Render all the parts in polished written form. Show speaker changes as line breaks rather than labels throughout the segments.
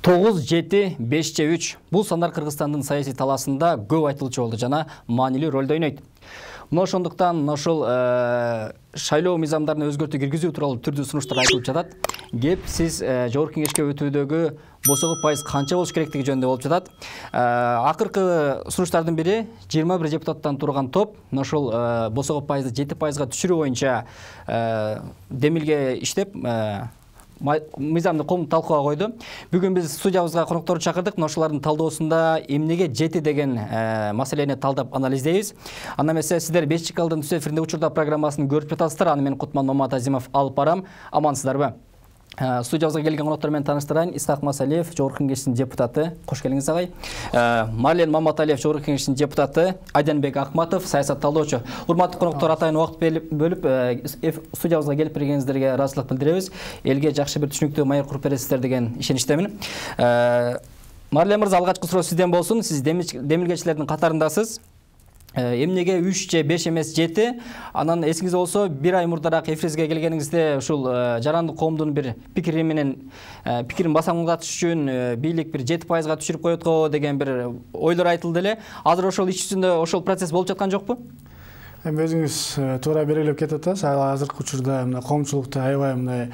9-7-5-3 бул сандар Кыргызстандын саясий талаасында көп айтылчу болду жана маанилүү ролду ойнойт. Мына ошондуктан ошол шайлоо мыйзамдарын өзгөртүү киргизүү тууралуу түрдүү сунуштар айтылып жатат. Кеп сиз жогорку кеңешке өтүүдөгү босого пайыз канча болуш керектиги жөнүндө болуп жатат. Акыркы сунуштардын бири 21 депутаттан турган топ ошол босого пайызды 7%га түшүрүү боюнча демилге иштеп мыйзамды талкууга койду. Бүгүн биз студиябызга конокторду чакырдык. Ошолордун талдоосунда эмнеге жети деген маселени талдап анализдейбиз. Анда эмесе сиздер Бешчикалдын түз эфиринде учурда программасын көрүп жатасыздар. Аны мен Кутман Маматазимов алып барам. Амансыздарбы? Студиябызга келген коноктор менен тааныштырайын. Исхак Масалиев, жогорку кеңештин депутаты. Кош келиңиз агай. Марлен Маматалиев, жогорку кеңештин депутаты. Айданбек Акматов, саясат талдоочу. Урматтуу коноктор, атайын убакыт бөлүп студиябызга келип бергениңиздерге ыраазычылык билдиребиз. Элге жакшы бир түшүнүктүү майыр куруп бересиздер деген ишеничтемин. Марлен мырза, алгачкы суроо сизден болсун. Сиз демилгечилердин катарындасыз. Эмнеге 3 же 5 эмес 7? Анан эсиңизде болсо, бир ай мурдараак эфирибизге келгениңизде ушул жарандык коомдун бир пикирин басаңдатыш үчүн бийлик бир 7%га түшүрүп коет го деген бир ойлор айтылды эле. Азыр ошол иш жүзүндө ошол процесс болуп жаткан жокпу?
Эми өзүңүз туура белгилеп кетип атасыз. Азыркы учурда мына коомчулукта аябай мындай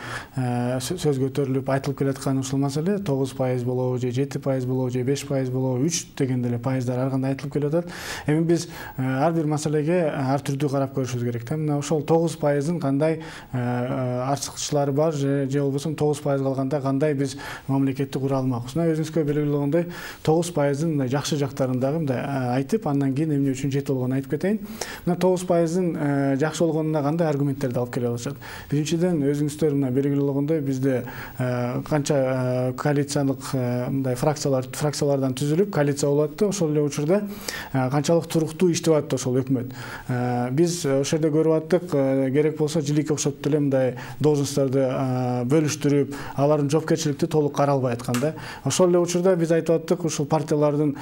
сөз көтөрүлүп айтылып келаткан ушул маселе 9% болобу же 7% болобу же 5% болобу 3 деген деле пайыздар ар кандай айтылып келип атат. Эми биз ар бир маселеге ар түрдүү карап көрүшүбүз керек да. Мына ошол 9%-ын кандай артыкчылыктары бар же болбосо 9% калганда кандай биз мамлекетти кура алмакпыз. Мына өзүңүзгө белгилүү болгондой 9%-ын мындай жакшы жактарын дагы мындай айтып, андан кийин эмне үчүн 7 болгонун айтып кетейин. Мына 9%-ын жакшы болгонуна кандай аргументтерди алып келе алышат. Биринчиден, өзүңүздөр мына белгилүү болгондой бизде канча коалициялык мындай фракциялардан түзүлүп коалиция болуп атты. Ошол эле учурда канчалык туруктуу иштеп атты ошол өкмөт. Биз ошол жерде көрүп аттык, керек болсо жилике окшоп деле мындай должностторду бөлүштүрүп, алардын жоопкерчиликти толук каралбай аткан да. Ошол эле учурда биз айтып аттык, ушул партиялардын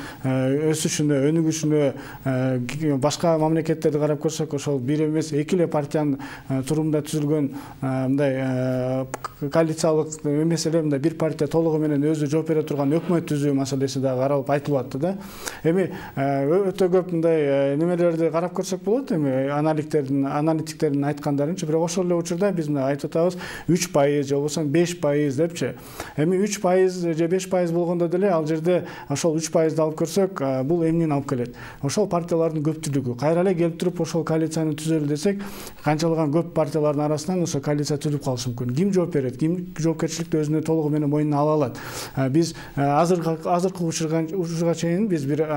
өсүшүнө, өнүгүшүнө башка мамлекеттерди карап көрсөк, ошол бир эмес эки эле партиянын турумунда түзүлгөн мындай коалициялык эмес эле мындай бир партия толугу менен өзү жооп бере турган өкмөт түзүү маселеси дагы каралып айтылып атты да. Эми өтө көп мындай немелерди карап көрсөк болот. Эми аналитиктердин айткандарынча, бирок ошол эле учурда биз мына айтып атабыз 3% же болбосо 5% депчи. Эми 3% же 5% болгондо деле ал жерде ошол 3%ды алып көрсөк, бул эмнени алып келет? Ошол партиялардын көптүлүгү. Кайра эле келип туруп ошол коалицияны түзөлү десек, канчалаган көп партиялардын арасынан ошо коалиция түзүлүп калышы мүмкүн. Ким жооп берет? Ким жоопкерчиликти өзүнө толугу менен мойнуна ала алат? Биз азыркы учурга чейин биз бир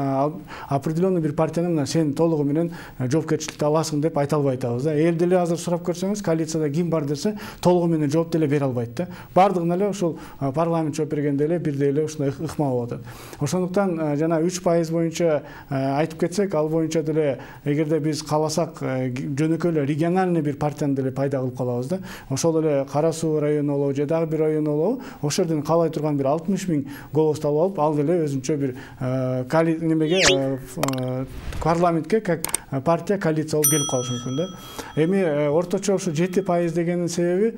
определенный бир партияны мына сен толугу менен жоопкерчиликти аласың деп айта албай атабыз да. Эл деле азыр сурап көрсөңүз, коалицияда ким бар десе, толугу менен жооп деле бере албайт да. Бардыгына эле ошол парламент жооп бергенде эле бирдей эле ушундай ыкма болуп атат. Ошондуктан жана 3% боюнча айтып кетсек, ал боюнча деле эгерде биз кааласак жөнөкөй эле региональный бир партияны деле пайда кылып калабыз да. Ошол эле Кара Суу району болобу же дагы бир район болобу, ошол жерден каалай турган бир 60 000 голосду алып алып, ал деле өзүнчө бир парламентке как партия коалиция болуп келип калышы мүмкүн да. Эми орточо ушу 7% дегенин себеби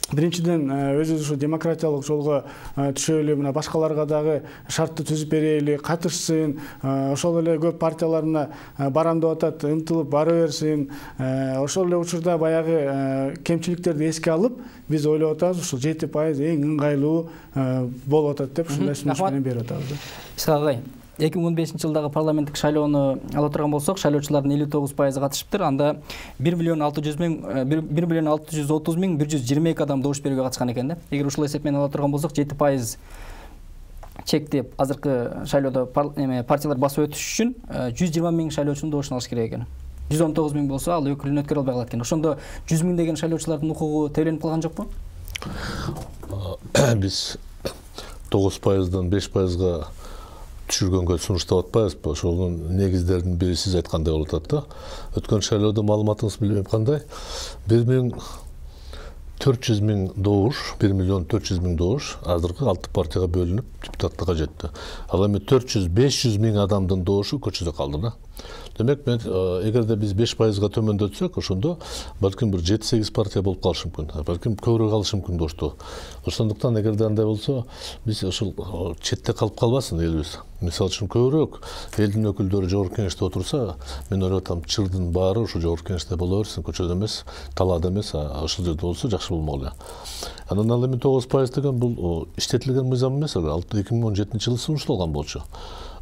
биринчиден өзүбүз ушу демократиялык жолго түшөлү, мына башкаларга дагы шартты түзүп берели, катышсын, ошол эле көп партиялар мына барам деп атат, ынтылып бара берсин. Ошол эле учурда баягы кемчиликтерди эске алып, биз ойлоп атабыз, ушул 7% эң ыңгайлуу болуп атат деп ушундай сунуш менен берип атабыз да.
Исхак агай, 2015-жылдагы парламенттик шайлоону ала турган болсок, шайлоочулардын 59% катышыптыр. Анда 1,630,122 адам добуш берүүгө катышкан экен да. Эгер ушул эсеп менен ала турган болсок, 7% чекти азыркы шайлоодо партиялар басып өтүш үчүн 120 000 шайлоочунун добушун алыш керек экен. 119 000 болсо, ал өкүлүн өткөрө албай калат экен. Ошондо 100 000 деген шайлоочулардын укугу тебеленип калган жокпу?
Биз 9%дан 5%га түшүргөнгө сунуштап атпайбыз. Ошонун негиздеринин бири сиз айткандай болуп атат да. Өткөн шайлоодо маалыматыңыз билбейм кандай 1,4 000 добуш, 1,4 000 добуш азыркы 6 партияга бөлүнүп депутаттыкка жетти. Ал эми 400-500 000 адамдын добушу көчөдө калды да. Демек мен эгерде биз 5%га төмөндөтсөк, ошондо балким бир 7-8 партия болуп калышы мүмкүн. Балким көбүрөөк алышы мүмкүн дошту. Ошондуктан эгерде андай болсо, биз ошол четте калып калбасын элибиз. Мисалы үчүн көбүрөөк элдин өкүлдөрү жогорку кеңеште отурса, мен ойлоп атам, чырдын баары ошо жогорку кеңеште боло берсин, көчөдө эмес, талаада эмес, ошол жерде болсо жакшы болмок эле. Анан ал эми 9% деген бул иштетилген мыйзам эмес эле, ал 2017-жылы сунушталган болчу.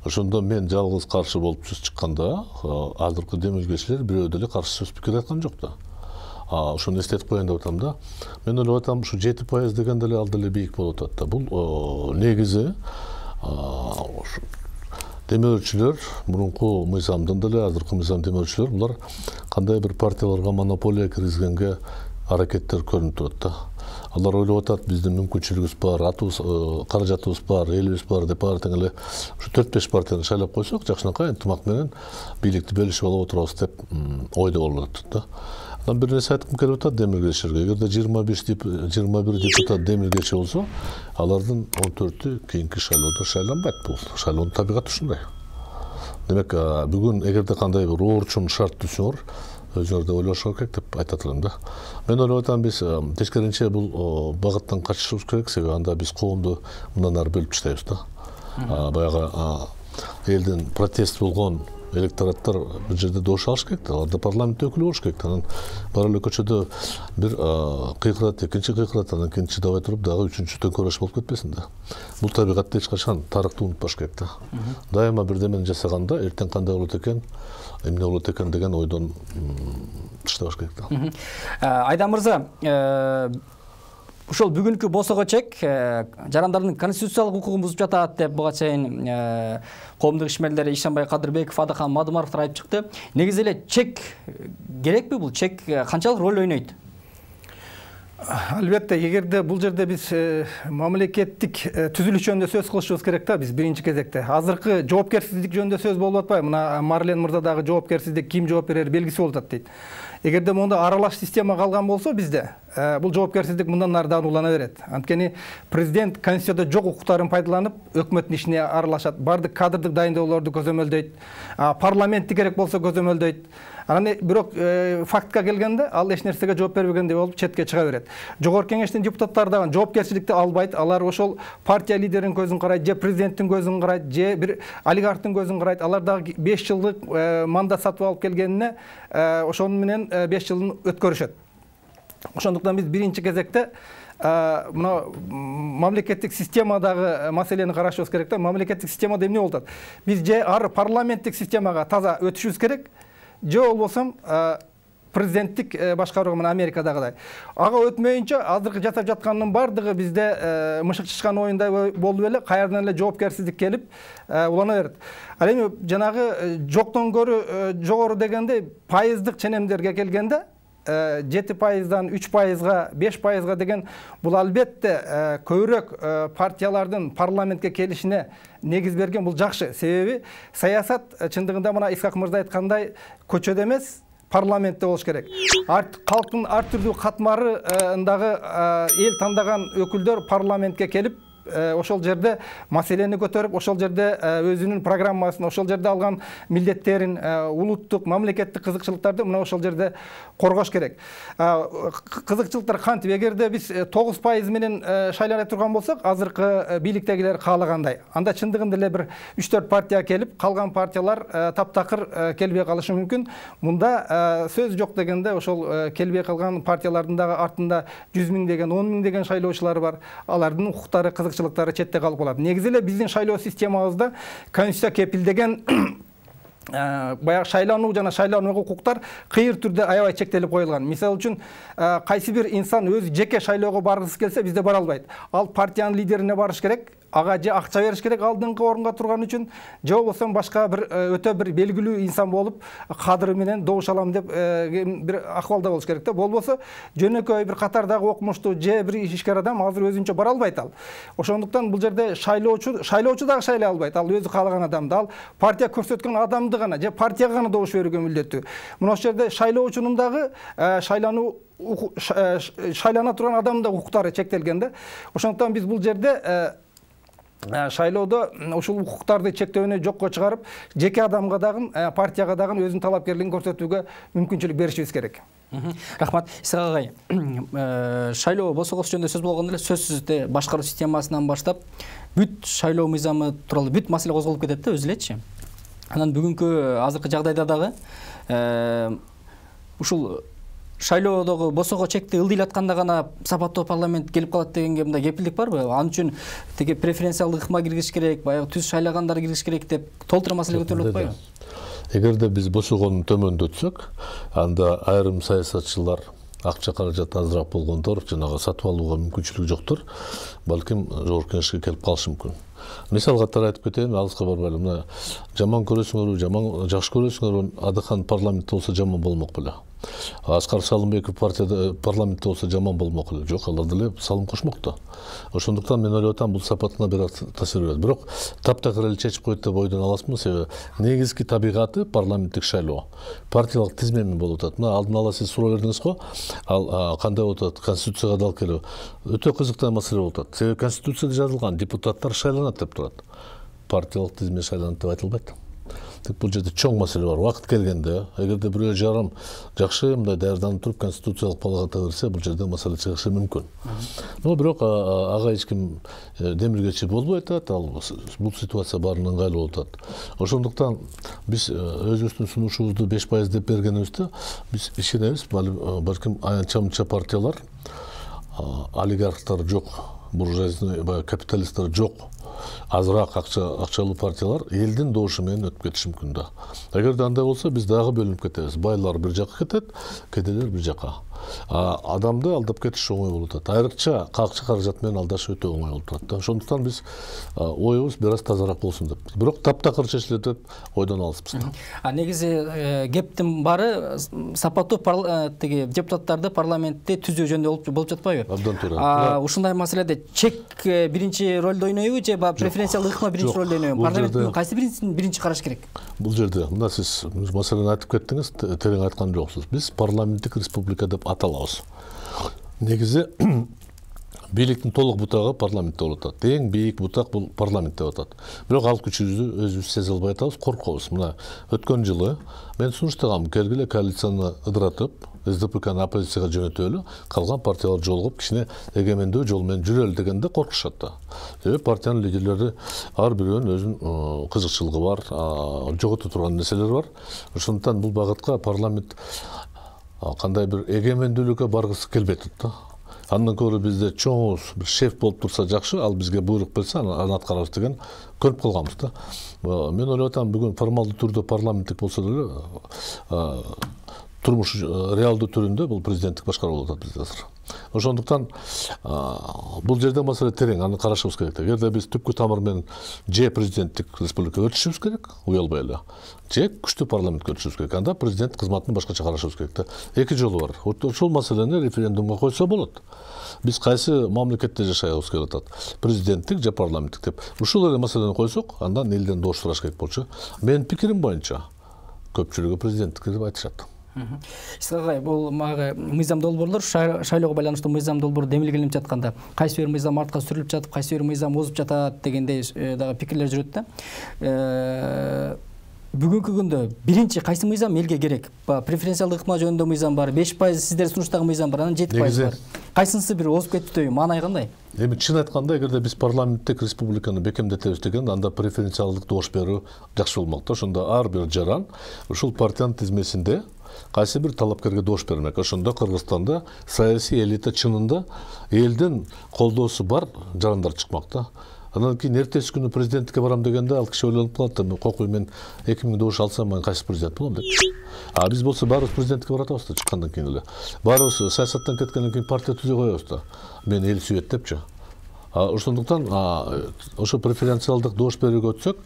Ошондо мен жалгыз каршы болуп сөз чыкканда, азыркы демилгечилер бирөө деле каршы сөз пикир айткан жок да. Ошону эстетип коеюн деп атам да. Мен ойлоп атам, ушу 7% деген деле ал деле бийик болуп атат да. Бул негизи демөөрчүлөр, мурунку мыйзамдын деле, азыркы мыйзам демөөрчүлөр, булар кандай бир партияларга монополия киргизгенге аракеттер көрүнүп турат да. Алар ойлоп атат, биздин мүмкүнчүлүгүбүз бар, каражатыбыз бар, элибиз бар деп тең эле ушу 4-5 партияны шайлап койсок, жакшынакай ынтымак менен бийликти бөлүшүп алып отурабыз деп ойдо болуп атат да. Анан бир нерсе айткым келип атат демилгечилерге. Эгерде 21 депутат демилгечи болсо, алардын 14-ü кийинки шайлоодо шайланбайт. Бул шайлоонун табигаты ушундай. Демек, бүгүн эгерде кандай бир оорчун шарт түзсөңөр, өзүңөр да ойлошуңар керек деп айтат элем да. Мен ойлоп атам, биз тескерисинче бул багыттан качышыбыз керек, себеби анда биз коомду мындан ары бөлүп таштайбыз да. Баягы элдин протест болгон электораттар бир жерде добуш алыш керек да, аларда парламент өкүлү болуш керек. Анан бара эле көчөдө бир кыйкырат, экинчи кыйкырат, анан кийин чыдабай туруп дагы үчүнчү төңкөрөш болуп кетпесин да. Бул табигатты эч качан тарыхты унутпаш керек да. Дайыма бирдемени жасаганда эртең кандай болот экен, эмне болот экен деген ойдон тыштабаш керек да.
Айдам мырза, ушул бүгүнкү босого чек жарандардын конституциялык укугун бузуп жатат деп буга чейин коомдук ишмерлер Ишенбай Кадырбеков, Адахан Мадымаровдор айтып чыкты. Негизи эле чек керекпи? Бул чек канчалык роль ойнойт?
Албетте, эгерде бул жерде биз мамлекеттик түзүлүш жөнүндө сөз кылышыбыз керек да, биз биринчи кезекте. Азыркы жоопкерсиздик жөнүндө сөз болуп атпайбы? Мына Марлен мырза дагы жоопкерсиздик ким жооп берери белгисиз болуп атат дейт. Эгерде монда аралаш система калган болсо бизде, бул жоопкерсиздик мындан ары да улана берет. Анткени президент конституцияда жок укуктарын пайдаланып, өкмөттүн ишине аралашат, бардык кадрдык дайындоолорду көзөмөлдөйт, парламентти керек болсо көзөмөлдөйт. Анан бирок фактка келгенде ал эч нерсеге жооп бербегендей болуп четке чыга берет. Жогорку кеңештин депутаттары дагы жоопкерчиликти албайт. Алар ошол партия лидеринин көзүн карайт, же президенттин көзүн карайт, же бир олигархтын көзүн карайт. Алар дагы 5 жылдык мандат сатып алып келгенине ошонун менен 5 жылын өткөрүшөт. Ошондуктан биз биринчи кезекте мына мамлекеттик системадагы маселени карашыбыз керек да. Мамлекеттик системада эмне болуп атат? Биз же ары парламенттик системага таза өтүшүбүз керек, же болбосо президенттик башкарууга мына Америкадагыдай. Ага өтмөйүнчө азыркы жасап жаткандын бардыгы бизде мышык чычкан оюндай болуп эле каерден эле жоопкерсиздик келип улана берет. Ал эми жанагы жоктон көрү жогору дегенде пайыздык ченемдерге келгенде 7%дан 3%га, 5%га деген бул албетте көбүрөөк партиялардын парламентке келишине негиз берген, бул жакшы. Себеби саясат чындыгында мына Исхак мырза айткандай көчөдө эмес, парламентте болуш керек. Калктын ар түрдүү катмарындагы эл тандаган өкүлдөр парламентке келип ошол жерде маселени көтөрүп, ошол жерде өзүнүн программасын, ошол жерде алган милдеттерин, улуттук, мамлекеттик кызыкчылыктарды мына ошол жерде коргош керек. Кызыкчылыктар кантип? Эгерде биз 9% менен шайлана турган болсок, азыркы бийликтегилер каалагандай, анда чындыгында эле бир 3-4 партия келип, калган партиялар таптакыр келбей калышы мүмкүн. Мында сөз жок дегенде ошол келбей калган партиялардын дагы артында 100 000 деген, 10 000 деген шайлоочулары бар. Алардын укуктары, кызыкчылыктары четте калып калат. Негизи эле биздин шайлоо системабызда конституция кепилдеген баягы шайлануу жана шайланууга укуктар кыйыр түрдө аябай чектелип коюлган. Мисалы үчүн, кайсы бир инсан өзү жеке шайлоого баргысы келсе, бизде бара албайт. Ал партиянын лидерине барыш керек, ага же акча бериш керек алдыңкы орунга турган үчүн, же болбосо башка бир өтө бир белгилүү инсан болуп, кадыры менен добуш алам деп бир акыбалда болуш керек да. Болбосо жөнөкөй бир катардагы окумуштуу же бир ишкер адам азыр өзүнчө бара албайт ал. Ошондуктан бул жерде шайлоочу дагы шайлай албайт. Ал өзү каалаган адамды, ал партия көрсөткөн адамды гана же партияга гана добуш берүүгө милдеттүү. Мына ошол жерде шайлоочунун дагы шайлана турган адамдын укуктары чектелген да. Ошондуктан биз бул жерде шайлоодо ушул укуктарды чектөөнү жокко чыгарып, жеке адамга дагы, партияга дагы өзүнүн талапкерлигин көрсөтүүгө мүмкүнчүлүк беришибиз керек.
Рахмат. Исак агай, шайлоо босогосу жөнүндө сөз болгондо эле сөзсүз башкаруу системасынан баштап бүт шайлоо мыйзамы тууралуу бүт маселе козголуп кетет да өзү элечи. Анан бүгүнкү азыркы жагдайда дагы ушул шайлоодогу босого чекти ылдыйлатканда гана сапаттуу парламент келип калат дегенге мындай кепилдик барбы? Ал үчүн теге преференциялдык ыкма киргизиш керек, баягы түз шайлагандар киргизиш керек деп толтура маселе көтөрүлүп атпайбы?
Эгерде биз босогону төмөндөтсөк, анда айрым саясатчылар акча каражат азыраак болгондор жанагы сатып алууга мүмкүнчүлүгү жоктор, балким жогорку кеңешке келип калышы мүмкүн. Мисал катары айтып кетейин, алыска барбайлы. Мына жаман көрөсүңөрбү, жаман жакшы көрөсүңөрбү, Адыхан парламентте болсо жаман болмок беле. Аскар Салымбеков партияда парламентте болсо жаман болмок эле. Жок, алар деле салым кошмок да. Ошондуктан мен ойлоп атам, бул сапатына бир таасир берет. Бирок таптакыр эле чечип койт деп ойдон аласмын, себеби негизги табигаты парламенттик шайлоо. Партиялык тизмеми болуп атат. Мына алдын ала сиз суроо бердиңиз го, ал кандай болуп атат, конституцияга алып келип. Өтө кызыктуу маселе болуп атат. Себеби конституцияда жазылган депутаттар шайланат деп турат. Партиялык тизме шайланат деп айтылбайт. Бул жерде чоң маселе бар. Убакыт келгенде, эгерде бирөө жарым жакшы мындай даярданып туруп конституциялык палата берсе, бул жерде маселе чыгышы мүмкүн. Но бирок ага эч ким демилгечи болбой атат, ал бул ситуация баарына ыңгайлуу болуп атат. Ошондуктан биз өзүбүздүн сунушубузду 5% деп бергенибизде, биз ишенебиз, балким аянча-мынча партиялар, олигархтар жок, буржуазный капиталисттер жок, азыраак акчалуу партиялар элдин добушу менен өтүп кетиши мүмкүн да. Эгерде андай болсо, биз дагы бөлүнүп кетебиз. Байлар бир жакка кетет, кедейлер бир жакка. Адамды алдап кетиш оңой болуп атат. Айрыкча акча каражат менен алдаш өтө оңой болуп атат да. Ошондуктан биз оюбуз бир аз тазараак болсун деп. Бирок таптакыр чечилет деп ойдон алыспыз.
Негизи кептин баары сапаттуу теги депутаттарды парламентте түзүү жөнүндө болуп жатпайбы?
Абдан туура.
Ушундай маселеде чек биринчи ролду ойнойбу же преференциялык ыкма биринчи ролду ойнойбу? Парламент кайсы биринчи караш керек?
Бул жерде мына сиз маселени айтып кеттиңиз, терең айткан жоксуз. Биз парламенттик республика деп аталабыз. Негизи бийликтин толук бутагы парламентте болуп атат. Эң бийик бутак бул парламент деп атат. Бирок ал күчүбүздү өзүбүз сезе албай атабыз, коркобуз. Мына өткөн жылы мен сунуштагам, келгиле коалицияны ыдыратып, СДПКны оппозицияга жөнөтөлү, калган партиялар жолугуп кичине эгемендүү жол менен жүрөлү дегенде коркушат да. Себеби партиянын лидерлери ар бирөөнүн өзүнүн кызыкчылыгы бар, жогото турган нерселери бар. Ошондуктан бул багытка парламент кандай бир эгемендүүлүккө баргысы келбей атат да. Андан көрө бизде чоңуз бир шеф болуп турса жакшы, ал бизге буйрук берсе, аны аткарабыз деген көрүп калганбыз да. Мен ойлоп атам, бүгүн формалдуу түрдө парламенттик болсо деле турмуш реалдуу түрүндө бул президенттик башкаруу болуп атат бизде азыр. Ошондуктан бул жерде маселе терең, аны карашыбыз керек. Эгерде биз түпкү тамыр менен же президенттик республикага өтүшүбүз керек, уялбай эле, же күчтүү парламентке өтүшүбүз керек. Анда президент кызматын башкача карашыбыз керек да. Эки жолу бар. Ошол маселени референдумга койсо болот. Биз кайсы мамлекетте жашайбыз келип атат? Президенттик же парламенттик деп. Ушул эле маселени койсок, андан элден добуш сураш керек болчу. Менин пикирим боюнча көпчүлүгү президенттик деп айтышат.
Исак агай, бул мыйзам долбоорлор шайлоого байланыштуу мыйзам долбоор демилгеленип жатканда кайсы бир мыйзам артка сүрүлүп жатып, кайсы бир мыйзам озуп жатат дегендей дагы пикирлер жүрөт да. Бүгүнкү күндө биринчи кайсы мыйзам элге керек? Преференциялдык ыкма жөнүндө мыйзам бар, 5% сиздер сунуштагы мыйзам бар, анан 7% бар. Кайсынысы бир озуп кетти, маанай кандай?
Эми чын айтканда, эгерде биз парламенттик республиканы бекемдетебиз деген, анда преференциялдык добуш берүү жакшы болмок да. Ошондо ар бир жаран ушул партиянын тизмесинде кайсы бир талапкерге добуш бермек. Ошондо Кыргызстанда саясий элита чынында элдин колдоосу бар жарандар чыкмак да. Андан кийин эртеси күнү президенттикке барам дегенде ал киши ойлонуп калат, кокуй мен 2000 добуш алсам мен кайсы президент болом деп. Биз болсо баарыбыз президенттикке баратабыз да, чыккандан кийин эле. Баарыбыз саясаттан кеткенден кийин партия түзө коебуз да. Мен эл сүйөт депчи. Ошондуктан ошо преференциалдык добуш берүүгө өтсөк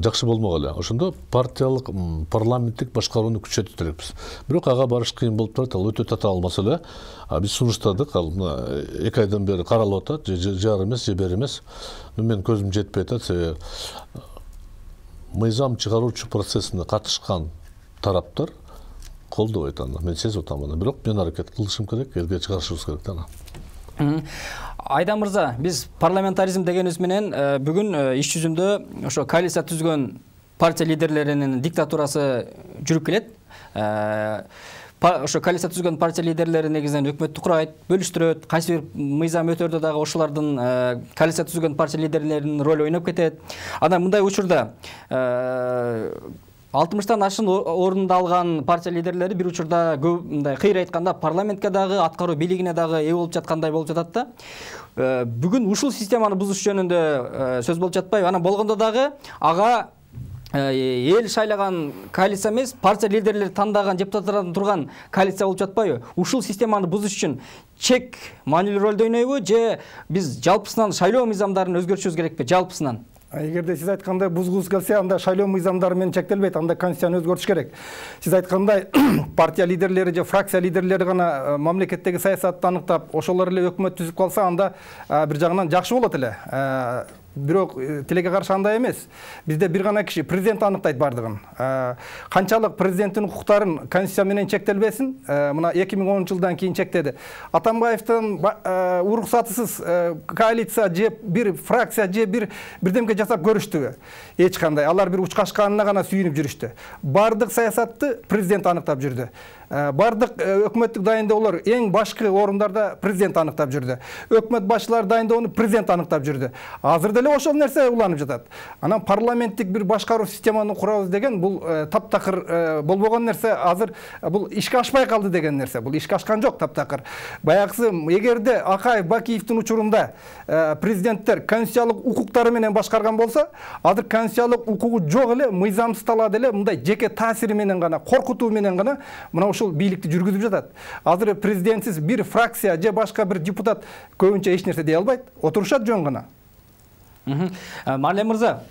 жакшы болмок эле. Ошондо партиялык парламенттик башкарууну күчөтүп беребиз. Бирок ага барыш кыйын болуп турат, ал өтө татаал маселе. Биз сунуштадык, ал 2 айдан бери каралып атат, же жар эмес, же бер эмес. Мен көзүм жетпей атат, себеби мыйзам чыгаруучу процессине катышкан тараптар колдобойт аны. Мен сезип атам аны. Бирок мен аракет кылышым керек, элге чыгарышыбыз керек да аны.
Айдан мырза, биз парламентаризм дегенибиз менен бүгүн иш жүзүндө ошо коалиция түзгөн партия лидерлеринин диктатурасы жүрүп келет. Ошо коалиция түзгөн партия лидерлери негизинен өкмөттү курайт, бөлүштүрөт, кайсы бир мыйзам өтөрдө дагы ошолордун коалиция түзгөн партия лидерлеринин ролу ойноп кетет. Анан мындай учурда 60-тан ашын орунду алган партия лидерлери бир учурда мындай кыйра айтканда парламентке дагы, аткаруу бийлигине дагы ээ болуп жаткандай болуп жатат да. Бүгүн ушул системаны бузуш жөнүндө сөз болуп жатпайбы? Анан болгондо дагы ага эл шайлаган коалиция эмес, партия лидерлери тандаган депутаттардан турган коалиция болуп жатпайбы? Ушул системаны бузуш үчүн чек маанилүү ролду ойнойбу же биз жалпысынан шайлоо мыйзамдарын өзгөртүшүбүз керекпи, жалпысынан?
Эгерде сиз айткандай бузгуңуз келсе, анда шайлоо мыйзамдары менен чектелбейт, анда конституцияны өзгөртүш керек. Сиз айткандай партия лидерлери же фракция лидерлери гана мамлекеттеги саясатты аныктап, ошолор эле өкмөт түзүп калса, анда бир жагынан жакшы болот эле. Бирок тилекке каршы андай эмес. Бизде бир гана киши президент аныктайт бардыгын. Канчалык президенттин укуктарын конституция менен чектелбесин, мына 2010-жылдан кийин чектеди. Атамбаевдин уруксатысыз коалиция же бир фракция же бирдемке жасап көрүштүбү? Эч кандай. Алар бир учкашканына гана сүйүнүп жүрүштү. Бардык саясатты президент аныктап жүрдү. Бардык өкмөттүк дайындоолор эң башкы орундарда президент аныктап жүрдү. Өкмөт башчылары дайындоону президент аныктап жүрдү. Азыр деле ошол нерсе уланып жатат. Анан парламенттик бир башкаруу системаны курабыз деген бул таптакыр болбогон нерсе. Азыр бул ишке ашпай калды деген нерсе. Бул ишке ашкан жок таптакыр. Баягысы эгерде Акаев, Бакиевдин учурунда президенттер конституциялык укуктары менен башкарган болсо, азыр конституциялык укугу жок эле, мыйзамсыз талаада эле мындай жеке таасири менен гана, коркутуу менен гана мына ушул бийликти жүргүзүп жатат. Азыр президентсиз бир фракция же башка бир депутат көбүнчө эч нерсе дей албайт, отурушат жөн гана.
Марлен мырза,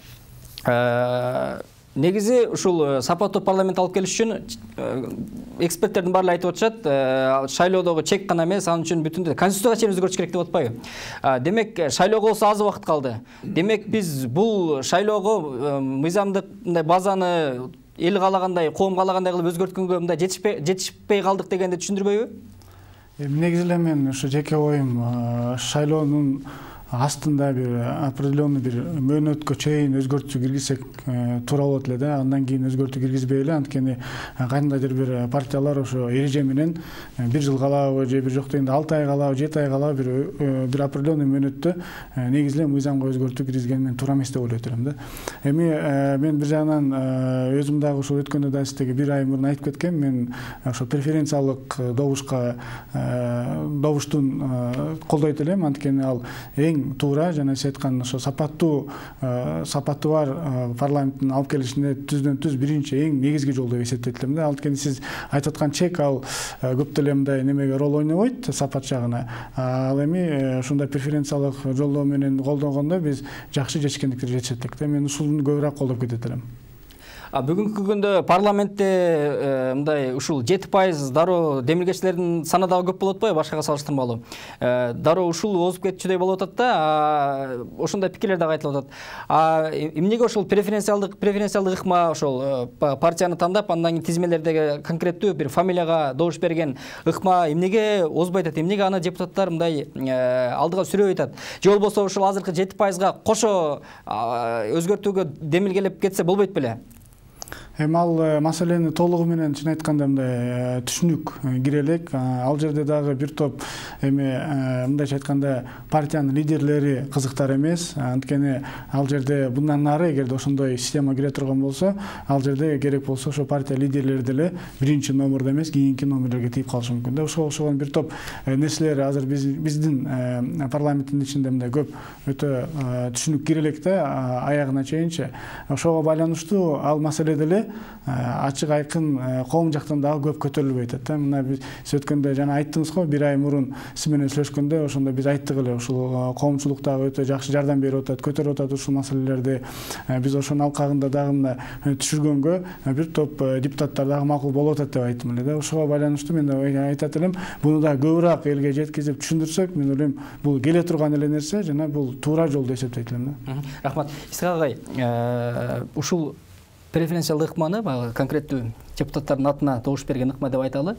негизи ушул сапаттуу парламент алып келиш үчүн эксперттердин баары айтып атышат, шайлоодогу чек гана эмес, анын үчүн бүтүндөй конституцияга чейин өзгөртүш керек деп атпайбы? Демек, шайлоого болсо аз убакыт калды. Демек, биз бул шайлоого мыйзамдык базаны эл каалагандай, коом каалагандай кылып өзгөрткөнгө мындай жетишпей калдык дегенди түшүндүрбөйбү?
Негизи эле мен ушу жеке оюм шайлоонун астында бир определенный бир мөөнөткө чейин өзгөртүү киргизсек туура болот эле да. Андан кийин өзгөртүү киргизбейли, анткени кандайдыр бир партиялар ошо эреже менен бир жыл калабы же бир жок дегенде 6 ай калабы, 7 ай калабы бир определенный мөөнөттө негизи эле мыйзамга өзгөртүү киргизген мен туура эмес деп ойлойт элем да. Эми мен бир жагынан өзүм дагы ошо өткөндө да сиздерге бир ай мурун айтып кеткем, мен ошо преференциялык добуштун колдойт элем, анткени ал эң туура жана сиз айткан ошо сапаттуу бар парламенттин алып келишине түздөн түз биринчи эң негизги жол деп эсептейт элем да. Анткени сиз айтып аткан чек ал көп деле мындай немеге роль ойнобойт сапат жагына. Ал эми ушундай преференциялык жолдоо менен колдонгондо биз жакшы жетишкендикке жетишет элек да. Мен ушуну көбүрөөк колдоп кетет элем.
Бүгүнкү күндө парламентте мындай ушул 7% дароо демилгечилердин саны дагы көп болуп атпайбы башкага салыштырмалуу? Дароо ушул озуп кетчүдөй болуп атат да, ошондой пикирлер дагы айтылып атат. Эмнеге ошол преференциалдык ыкма ошол партияны тандап, андан кийин тизмелердеги конкреттүү бир фамилияга добуш берген ыкма эмнеге озбой атат? Эмнеге аны депутаттар мындай алдыга сүрөп атат? Же болбосо ушул азыркы 7%га кошо өзгөртүүгө демилгелеп кетсе болбойт беле?
Эми ал маселени толугу менен чын айтканда мындай түшүнүк кире элек. Ал жерде дагы бир топ эми мындайча айтканда партиянын лидерлери кызыктар эмес. Анткени ал жерде мындан нары эгерде ошондой система кире турган болсо, ал жерде керек болсо ошо партия лидерлери деле биринчи номерде эмес, кийинки номерлерге тийип калышы мүмкүн да. Ошого окшогон бир топ нерселер азыр биздин парламенттин ичинде мындай көп өтө түшүнүк кире элек да, аягына чейинчи. Ошого байланыштуу ал маселе деле ачык айкын коом жактан дагы көп көтөрүлбөй атат да. Мына биз өткөндө жана айттыңыз го, бир ай мурун сиз менен сүйлөшкөндө ошондо биз айттык эле, ушул коомчулук дагы өтө жакшы жардам берип атат, көтөрүп атат ушул маселелерди. Биз ошонун алкагында дагы мына түшүргөнгө бир топ депутаттар дагы макул болуп атат деп айттым эле да. Ошого байланыштуу мен айтат элем, буну дагы көбүрөөк элге жеткизип түшүндүрсөк, мен ойлойм бул келе турган эле нерсе жана бул туура жол деп эсептейт элем да.
Рахмат. Исхак агай, ушул преференциялык ыкманы конкреттүү депутаттардын атына добуш берген ыкма деп айталы.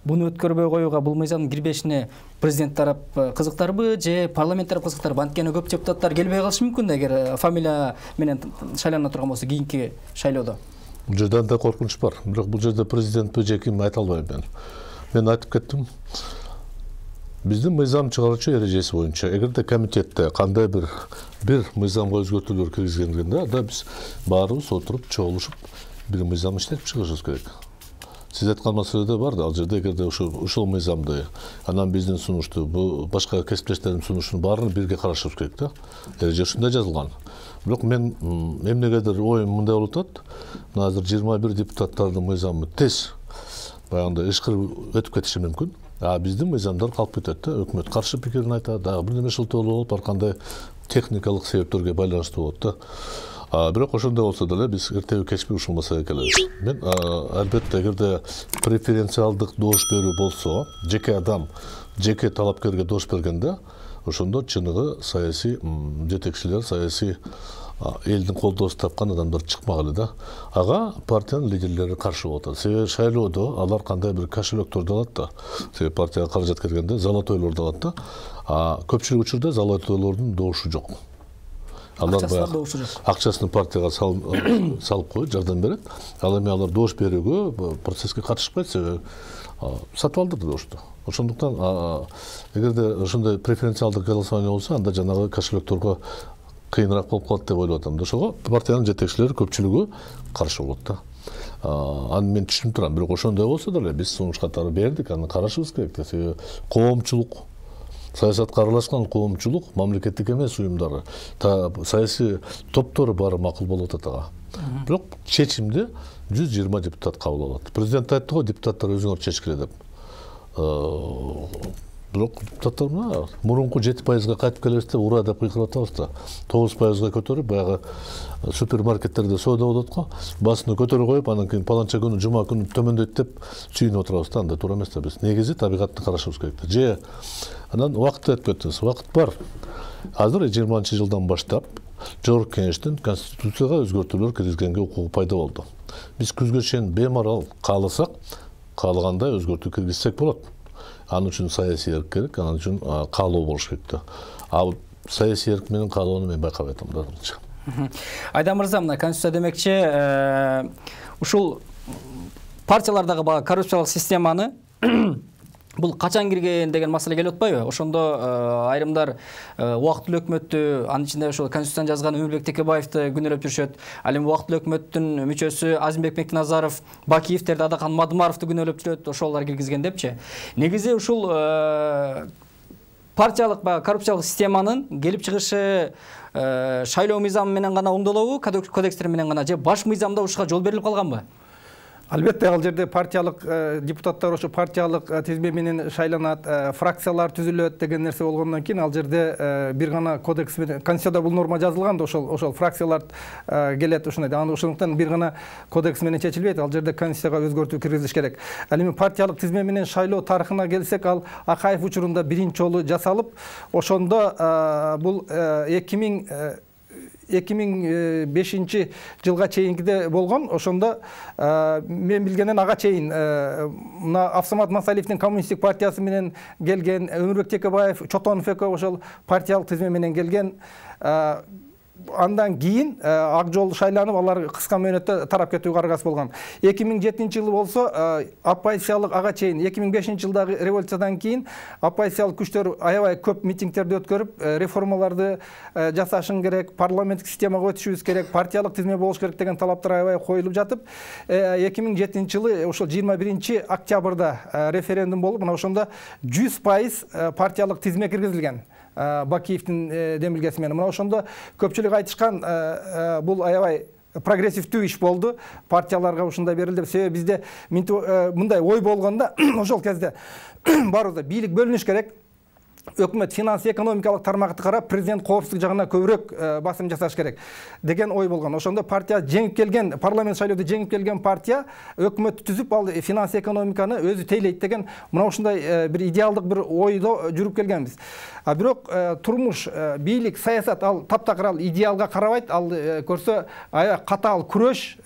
буну өткөрбөй коюуга, бул мыйзамдын кирбешине президент тарап кызыктарбы же парламент тарап кызыктарбы? Анткени көп депутаттар келбей калышы мүмкүн эгер фамилия менен шайлана турган болсо кийинки шайлоодо.
Бул жерде андай коркунуч бар. Бирок бул жерде президентпи же ким айта албайм мен. Мен айтып кеттим. Биздин мыйзам чыгаруучу эрежеси боюнча эгерде комитетте кандай бир мыйзамга өзгөртүүлөр киргизгенде, анда биз баарыбыз отуруп чогулушуп бир мыйзам иштетип чыгышыбыз керек. Сиз айткан маселеде бар да, ал жерде эгерде ушул мыйзамды, анан биздин сунушту, бу башка кесиптештердин сунушун баарын бирге карашыбыз керек да. Эреже ушундай жазылган. Бирок мен эмнегедир оюм мындай болуп атат. Мына азыр 21 депутаттардын мыйзамы тез баягындай ышкырып өтүп кетиши мүмкүн. Биздин мыйзамдар калып кетет да, өкмөт каршы пикирин айтат, бир неме шылтоолор болуп, ар кандай техникалык себептерге байланыштуу болот да. Бирок ошондой болсо деле биз эртеби кечпи ушул маселеге келебиз. Мен албетте эгерде преференциалдык добуш берүү болсо, жеке адам, жеке талапкерге добуш бергенде, ошондо чыныгы саясий жетекчилер, саясий элдин колдоосун тапкан адамдар чыкмагылы да. Ага партиянын лидерлери каршы болуп атат. Себеби шайлоодо алар кандай бир кошелектөрдү алат да. Себеби партияга каражат келгенде золотойлорду алат да. Көпчүлүк учурда золотойлордун добушу жок. Алар акчасын партияга салып коюп жардам берет. Ал эми алар добуш берүүгө, процесске катышпайт, себеби сатып алдырды добушту. Ошондуктан эгерде ошондой преференциалдык голосование болсо, анда жанагы кошелекторго кыйыныраак болуп калат деп ойлоп атам да. Ошого партиянын жетекчилери көпчүлүгү каршы болот да. Аны мен түшүнүп турам. Бирок ошондой болсо деле биз сунуш катары бердик, аны карашыбыз керек да. Себеби коомчулук, саясатка аралашкан коомчулук, мамлекеттик эмес уюмдары, саясий топтору баары макул болуп атат ага. Бирок чечимди 120 депутат кабыл алат. Президент айтты го, депутаттар өзүңөр чечкиле деп. Бирок депутаттар мына мурунку 7%га кайтып келебиз деп ура деп кыйкырып атабыз да. 9%га көтөрүп, баягы супермаркеттерде соода болот го, басыны көтөрүп коюп, анан кийин паланча күнү, жума күнү төмөндөйт деп сүйүнүп отурабыз да. Андай туура эмес да. Биз негизи табигатты карашыбыз керек да. Же анан убакытты айтып кеттиңиз. Убакыт бар. Азыр 20-жылдан баштап Жогорку Кеңештин Конституцияга өзгөртүүлөр киргизгенге укугу пайда болду. Биз күзгө чейин бемарал кааласак, каалагандай өзгөртүү киргизсек болот. Анын үчүн саясий эрк керек, анын үчүн каалоо болуш керек да. Ал саясий эрк менен каалоону мен байкабай атам да.
Айдар мырза, мына Конституция демекчи, ушул партиялардагы баягы коррупциялык системаны бул качан кирген деген маселе келип атпайбы? Ошондо айрымдар убактылуу өкмөттү, анын ичинде ошол Конституцияны жазган Өмүрбек Текебаевди күнөөлөп жүрүшөт. Ал эми убактылуу өкмөттүн мүчөсү Азимбек Мектиназаров, Бакиевтерди, Адакан Мадымаровду күнөөлөп жүрөт, ошолор киргизген депчи. Негизи ушул партиялык баягы коррупциялык системанын келип чыгышы шайлоо мыйзамы менен гана оңдолобу, кодекстер менен гана, же баш мыйзамда ушуга жол берилип калганбы?
Албетте, ал жерде партиялык депутаттар ошо партиялык тизме менен шайланат, фракциялар түзүлөт деген нерсе болгондон кийин ал жерде бир гана кодекс менен, Конституцияда бул норма жазылган да, ошол фракциялар келет ушундай. Ошондуктан бир гана кодекс менен чечилбейт, ал жерде Конституцияга өзгөртүү киргизиш керек. Ал эми партиялык тизме менен шайлоо тарыхына келсек, ал Акаев учурунда биринчи жолу жасалып, ошондо бул 2005 жылга чейинкиде болгон. Ошондо мен билгенден ага чейин мына Авсамат Масалиевдин коммунисттик партиясы менен келген, Өмүрбек Текебаев, Чотонов экөө ошол партиялык тизме менен келген. Андан кийин ак жол шайланып, алар кыска мөөнөттө тарап кетүүгө аргасы болгон. 2007 жылы болсо оппозициялык ага чейин 2005 жылдагы революциядан кийин оппозициялык күчтөр аябай көп митингтерди өткөрүп, реформаларды жасашың керек, парламенттик системага өтүшүбүз керек, партиялык тизме болуш керек деген талаптар аябай коюлуп жатып, 2007 жылы ошол 21 октябрда референдум болуп, мына ошондо 100% партиялык тизме киргизилген. Бакиевдин демилгеси менен. Мына ошондо көпчүлүк айтышкан, бул аябай прогрессивдүү иш болду, партияларга ушундай берилди. Себеби бизде мындай ой болгондо ошол кезде баарыбызда бийлик бөлүнүш керек. өкмөт финансы экономикалык тармакты карап президент коопсуздук жагына көбүрөөк басым жасаш керек деген ой болгон. Ошондо партия жеңип келген, парламент шайлоодо жеңип келген партия өкмөттү түзүп, ал финансы экономиканы өзү тейлейт деген мына ушундай бир идеалдык бир ойдо жүрүп келгенбиз. А бирок турмуш, бийлик, саясат ал таптакыр ал идеалга карабайт. Ал көрсө аябай катаал күрөш,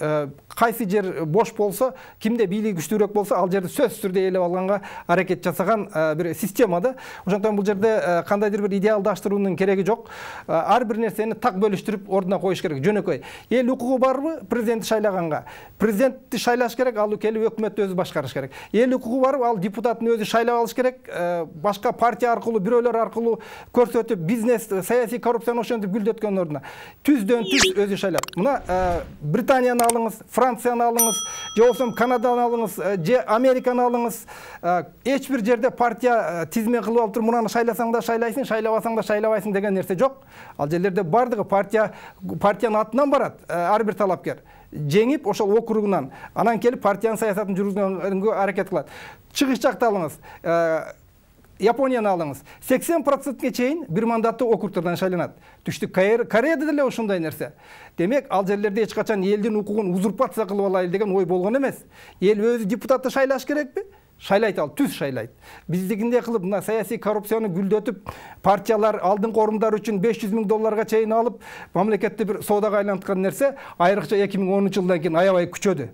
кайсы жер бош болсо, кимде бийлиги күчтүүрөөк болсо, ал жерди сөзсүз түрдө ээлеп алганга аракет жасаган бир система да. Ошондон бул жерде кандайдыр бир идеалдаштыруунун кереги жок. Ар бир нерсени так бөлүштүрүп ордуна коюш керек. Жөнөкөй. Эл укугу барбы президентти шайлаганга? Президентти шайлаш керек, ал келип өкмөттү өзү башкарыш керек. Эл укугу барбы? Ал депутатын өзү шайлап алыш керек. Башка партия аркылуу, бирөөлөр аркылуу көрсөтүп, бизнес, саясий коррупцияны ошентип гүлдөткөн ордуна түздөн түз өзү шайлап. Мына Британияны алыңыз, Францияны алыңыз, же болбосо Канаданы алыңыз, же Американы алыңыз. Эч бир жерде партия тизме кылып алып туруп, мунаны шайласаң да шайлайсың, шайлабасаң да шайлабайсың деген нерсе жок. Ал жерлерде бардыгы партиянын атынан барат ар бир талапкер. Жеңип ошол округунан, анан келип партиянын саясатын жүргүзгөнгө аракет кылат. Чыгыш жакты алыңыз. Японияны алыңыз. 80%ге чейин бир мандаттуу округдардан шайланат. Түштүк Кореяда деле ошондой нерсе. Демек, ал жерлерде эч качан элдин укугун узурпация кылып алайлы деген ой болгон эмес. Эл өзү депутатты шайлаш керекпи? Шайлайт, ал түз шайлайт. Биздигиндей кылып мына саясий коррупцияны гүлдөтүп, партиялар алдыңкы орундар үчүн $500,000 чейин алып, мамлекетти бир соодага айланткан нерсе айрыкча 2010 жылдан кийин аябай күчөдү.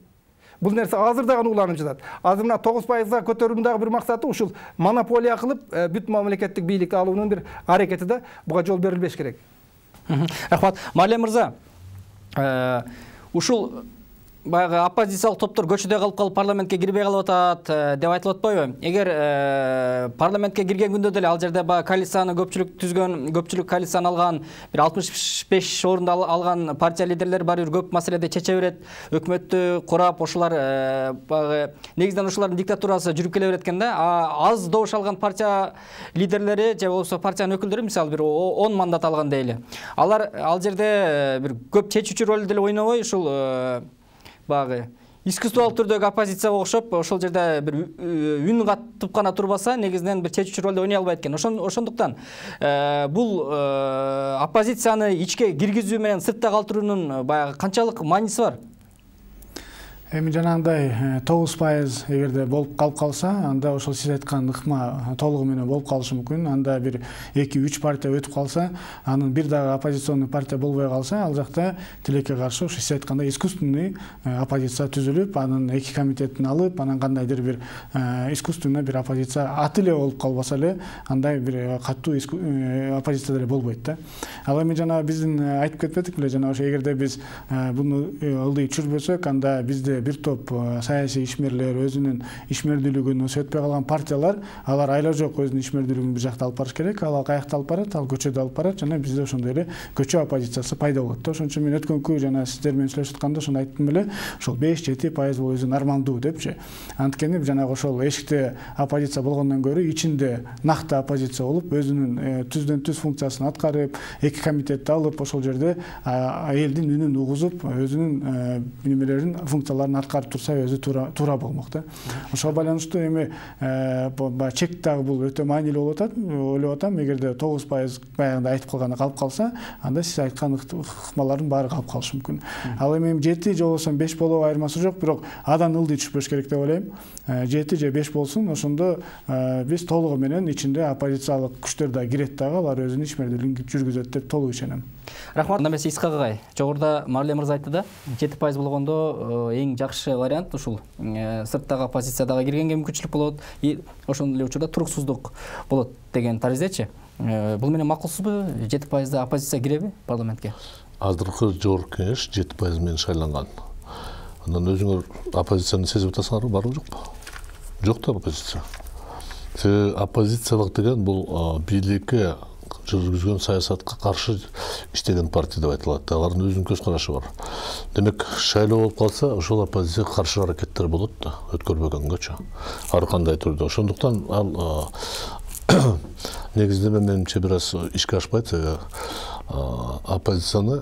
Бул нерсе азыр дагы уланып жатат. Азыр мына 9%га көтөрүүнүн дагы бир максаты ушул монополия кылып, бүт мамлекеттик бийликти алуунун бир аракети да. Буга жол берилбеш керек.
Рахмат. Малия мырза, ушул баягы оппозициялык топтор көчөдө калып парламентке кирбей калып атат деп айтылып атпайбы? Эгер парламентке кирген күндө деле ал жерде баягы коалицияны көпчүлүк коалицияны алган, бир 65 орунду алган партия лидерлери баары бир көп маселеде чече берет, өкмөттү курап, ошолар баягы негизинен ошолордун диктатурасы жүрүп келе берет экен да. Аз добуш алган партия лидерлери же болбосо партиянын өкүлдөрү, мисалы бир 10 мандат алган дейли. Алар ал жерде бир көп чечүүчү ролду деле ойнобой, ушул багы искусстволук түрдөгү оппозицияга окшоп, ошол жерде бир үн катып гана турбаса, негизинен бир чечүүчү ролду ойной албайт экен. Ошондуктан бул оппозицияны ичке киргизүү менен сыртта калтыруунун баягы канчалык мааниси бар?
Эми жанагындай 9% эгерде болуп калып калса, анда ошол сиз айткан ыкма толугу менен болуп калышы мүмкүн. Анда бир 2-3 партия өтүп калса, анын бир дагы оппозиционный партия болбой калса, ал жакта тилекке каршы ушу сиз айткандай искусственный оппозиция түзүлүп, анын 2 комитетин алып, анан кандайдыр бир искусственный бир оппозиция аты эле болуп калбаса эле, андай бир катуу оппозиция деле болбойт да. Ал эми жана биздин айтып кетпедик беле, жана ошо эгерде биз буну ылдый түшүрбөсөк, анда бизде бир топ саясий ишмерлер, өзүнүн ишмердүүлүгүн өсөтпөй калган партиялар, алар айла жок өзүнүн ишмердүүлүгүн бир жакта алып барыш керек. Ал каякта алып барат, ал көчөдө алып барат, жана бизде ошондой эле көчө оппозициясы пайда болот да. Ошон үчүн мен өткөнкү жана сиздер менен сүйлөшүп атканда ошону айттым эле, ошол 5-7% бул өзү нормалдуу депчи. Анткени жанагы ошол эшикте оппозиция болгондон көрө ичинде накты оппозиция болуп, өзүнүн түздөн түз функциясын аткарып, 2 комитетти алып, ошол жерде элдин үнүн угузуп, өзүнүн немелерин, функцияларын аткарып турса өзү туура болмок да. Ошого байланыштуу эми чек дагы бул өтө маанилүү болуп атат. Ойлоп атам, эгерде 9% баягында айтып калганы калып калса, анда сиз айткан ыкмалардын баары калып калышы мүмкүн. Ал эми 7 же болбосо 5 болуу айырмасы жок, бирок адан ылдый түшпөш керек деп ойлойм. 7 же 5 болсун, ошондо биз толугу менен ичинде оппозициялык күчтөр да кирет дагы, алар өзүнүн ишмердүүлүгүн жүргүзөт деп толук ишенем.
Рахмат. Анда эмесе Исхак агай, жогоруда Малия мырза айтты да, 7% болгондо эң жакшы вариант ушул сырттагы оппозициядагы киргенге мүмкүнчүлүк болот, ошондой эле учурда туруксуздук болот деген тарыздечи. Бул менен макулсузбу? 7% оппозиция киреби парламентке?
Азыркы жогорку кеңеш 7% менен шайланган. Андан өзүңөр оппозицияны сезип атасыңарбы, барбы жокпу? Жок да оппозиция. Оппозициялык деген бул бийликке жүргүзгөн саясатка каршы иштеген партия деп айтылат. Алардын өзүнүн көз карашы бар. Демек, шайлоо болуп калса, ошол оппозицияга каршы аракеттер болот да, өткөрбөгөнгөчү. Ар кандай түрдө. Ошондуктан ал негизинен менимче бир аз ишке ашпайт. Оппозицияны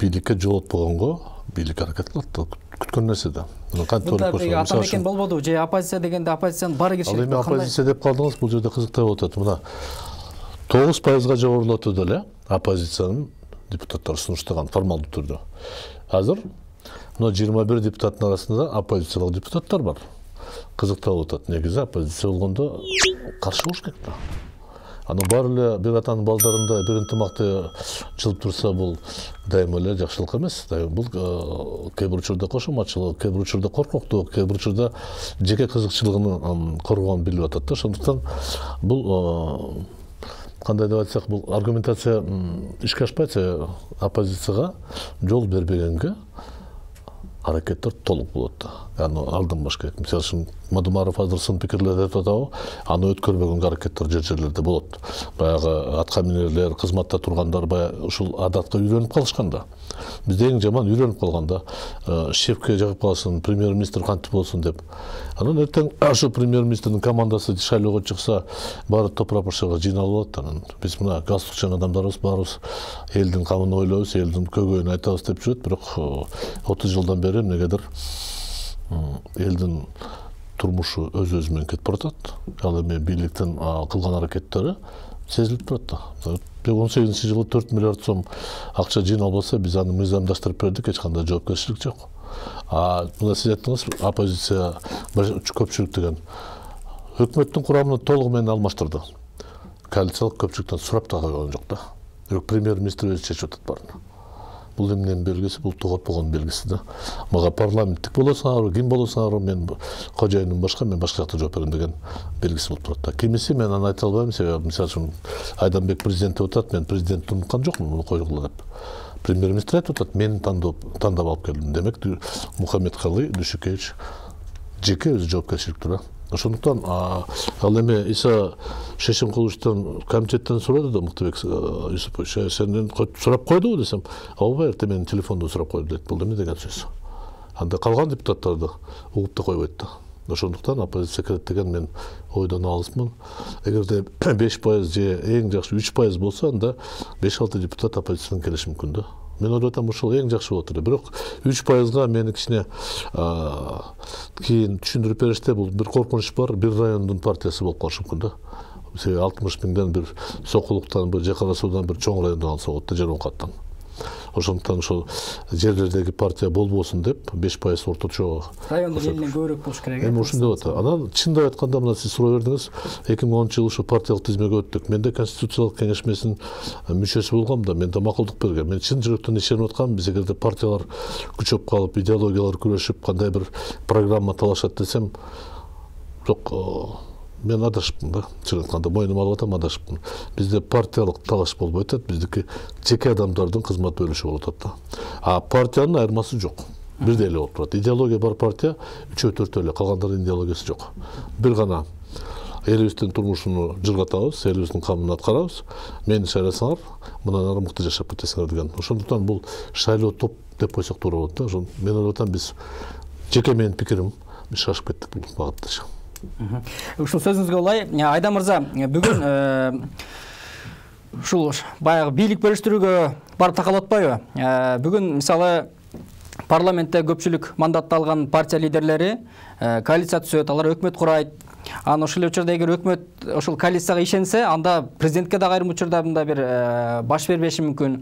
бийликке жолотпогонго бийлик аракет кылат, күткөн нерсе да.
Ата мекен болбоду же оппозиция дегенде оппозициянын баары киришет.
Ал эми оппозиция деп калдыңыз, бул жерде кызыктуу болуп атат. Мына 9%га жогорулатты эле оппозициянын депутаттары сунуштаган формалдуу түрдө. Азыр мына 21 депутаттын арасында оппозициялык депутаттар бар. Кызыктуу болуп атат. Негизи оппозиция болгондо каршы болуш керек да. Анын баары эле бир атанын балдарында бир ынтымакты жылып турса, бул дайыма эле жакшылык эмес. Бул кээ бир учурда кошоматчылык, кээ бир учурда коркоктук, кээ бир учурда жеке кызыкчылыгын коргоон билип атат да. Ошондуктан бул кандай деп айтсак, бул аргументация ишке ашпайт, оппозицияга жол бербегенге аракеттер толук болот да. Аны алдырмаш керек. Мисалы үчүн Мадумаров азыр сын пикирлерди айтып атабы, аны өткөрбөгөнгө аракеттер жерлерде болот. Баягы атка минерлер, кызматта тургандар баягы ушул адатка үйрөнүп калышкан да. Бизде эң жаман үйрөнүп калган да. Шефке жагып калсын, премьер-министр кантип болсун деп. Анан эртең ошол премьер-министрдин командасы шайлоого чыкса, баары топурапашага жыйналып алат. Анан биз мына галстукчан адамдарыбыз баарыбыз элдин камын ойлойбуз, элдин көйгөйүн айтабыз деп жүрөт, бирок 30 жылдан бери эмнегедир элдин турмушу өз менен кетип баратат. Ал эми бийликтин кылган аракеттери сезилип турат да. 18-жылы 4 миллиард сом акча жыйналбаса, биз аны мыйзамдаштырып бердик, эч кандай жоопкерчилик жок. Мына сиз айттыңыз, оппозиция көпчүлүк деген. Өкмөттүн курамын толугу менен алмаштырды. Коалициялык көпчүлүктөн сурап да койгон жок да. Бирок премьер-министр өзү чечип атат баарын. Бул эмненин белгиси, бул тогот болгон белгиси да. Мага парламенттик болосуңарбы, ким болосуңарбы, мен кожоюнум башка, мен башка жакта жооп берем деген белгиси болуп турат да. Кимиси мен аны айта албайм, себеби мисалы үчүн Айданбек президент деп атат, мен президентти унуткан жокмун, муну койгула деп. Премьер-министр айтып атат, мени тандап алып келдим. Демек Мухаммедкалый Дүйшүкевич жеке өзү жоопкерчиликте да. Ошондуктан ал эми Иса Шешенкуловичтен комитеттен сурады да, Мыктыбек Юсупович, сенден сурап койдубу десем, ооба, эртең менин телефондон сурап койду дейт. Бул эмне деген сөз? Анда калган депутаттарды угуп да койбойт да. Ошондуктан оппозиция керет деген мен ойдон алысмын. Эгерде 5% же эң жакшы 3% болсо, анда 5-6 депутат оппозициядан келиши мүмкүн да. Мен ойлоп атам, ушул эң жакшы болот эле. Бирок 3%га мени кичине кийин түшүндүрүп бериште, бул бир коркунуч бар, бир райондун партиясы болуп калышы мүмкүн да. 60 миңден бир Сокулуктан, бир Жакара Суудан, бир чоң райондон алса болот да, Жармукаттан. Ошондуктан ошол жерлердеги партия болбосун деп 5% орточо
райондун элинен көбүрөөк болуш керек.
Эми ушундай болот. Анан чындап айтканда, мына сиз суроо бердиңиз, 2010-жылы ушу партиялык тизмеге өттүк. Менде конституциялык кеңешмесинин мүчөсү болгом да, мен да макулдук бергем. Мен чын жүрөктөн ишенип аткам, биз эгерде партиялар күчөп калып, идеологиялар күрөшүп, кандай бир программа талашат десем, жок, мен адашыпмын да. Чын айтканда мойнума алып атам, адашыпмын. Бизде партиялык талаш болбойт атат, биздики жеке адамдардын кызмат бөлүшү болуп атат да. Партиянын айырмасы жок. Бирдей эле болуп турат. Идеология бар партия 3-4 эле, калгандардын идеологиясы жок. Бир гана элибиздин турмушуну жыргатабыз, элибиздин камын аткарабыз. Мени шайласаңар, мындан ары мыкты жашап кетесиңер деген. Ошондуктан бул шайлоо топ деп койсок туура болот да. Мен ойлоп атам, биз жеке менин пикирим, биз шашып кеттик бул багытта.
Ушул сөзүңүзгө улай, Айдан мырза, бүгүн ушул баягы бийлик бөлүштүрүүгө барып такалып атпайбы? Бүгүн мисалы парламентте көпчүлүк мандатты алган партия лидерлери коалиция түзөт, алар өкмөт курайт. Анан ошол учурда эгер өкмөт ошол коалицияга ишенсе, анда президентке да айрым учурда мындай бир баш бербеши мүмкүн.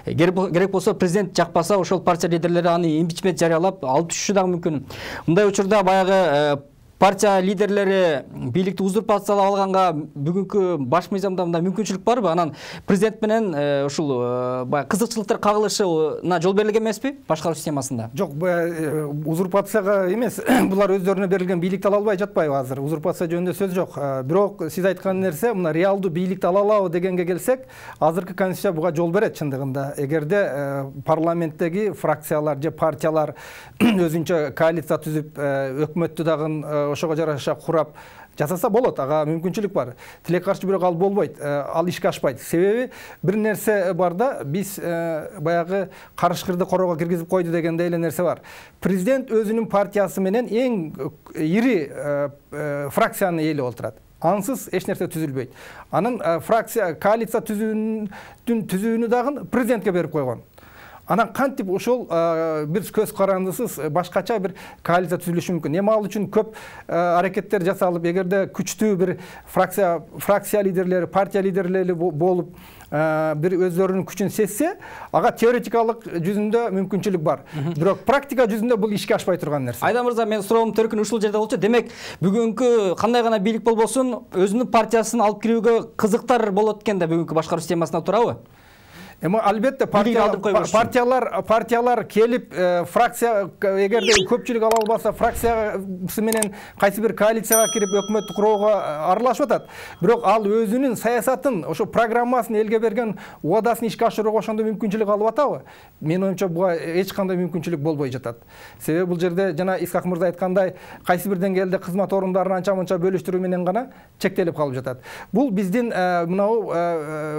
Керек болсо президент жакпаса, ошол партия лидерлери аны импичмент жарыялап алып түшүшү дагы мүмкүн. Мындай учурда баягы партия лидерлери бийликти узурпациялап алганга бүгүнкү баш мыйзамда мындай мүмкүнчүлүк барбы? Анан президент менен ушул кызыкчылыктар кагылышына жол берилген эмеспи башкаруу системасында?
Жок, узурпацияга эмес, булар өздөрүнө берилген бийликти ала албай жатпайбы азыр? Узурпация жөнүндө сөз жок. Бирок сиз айткан нерсе, мына реалдуу бийликти ала алабы дегенге келсек, азыркы конституция буга жол берет чындыгында. Эгерде парламенттеги фракциялар же партиялар өзүнчө коалиция түзүп, өкмөттү дагы ошого жараша курап жасаса болот, ага мүмкүнчүлүк бар. Тилек каршы, бирок ал болбойт, ал ишке ашпайт. Себеби бир нерсе бар да, биз баягы карышкырды корого киргизип койду дегендей эле нерсе бар. Президент өзүнүн партиясы менен эң ири фракциянын эли болуп турат. Ансыз эч нерсе түзүлбөйт. Анын фракция коалиция түзүүнү дагы президентке берип койгон. Анан кантип ошол бир көз карандысыз башкача бир коалиция түзүлүшү мүмкүн. Эми ал үчүн көп аракеттер жасалып, эгерде күчтүү бир фракция лидерлери, партия лидерлери болуп бир өздөрүнүн күчүн сезсе, ага теоретикалык жүзүндө мүмкүнчүлүк бар. Бирок практика жүзүндө бул ишке ашпай турган нерсе.
Айдар мырза, мен суроом төркүн ушул жерде болчу. Демек, бүгүнкү кандай гана бийлик болбосун, өзүнүн партиясын алып кирүүгө кызыктар болот экен да бүгүнкү башкаруу системасына туурабы?
Эми албетте партиялар келип фракция эгерде көпчүлүк ала албаса фракциясы менен кайсы бир коалицияга кирип өкмөттү курууга аралашып атат. Бирок ал өзүнүн саясатын, ошо программасын, элге берген убадасын ишке ашырууга ошондой мүмкүнчүлүк алып атабы? Менин оюмча буга эч кандай мүмкүнчүлүк болбой жатат. Себеби бул жерде жана Исхак мырза айткандай, кайсы бир деңгээлде кызмат орундарын анча-мынча бөлүштүрүү менен гана чектелип калып жатат. Бул биздин мынау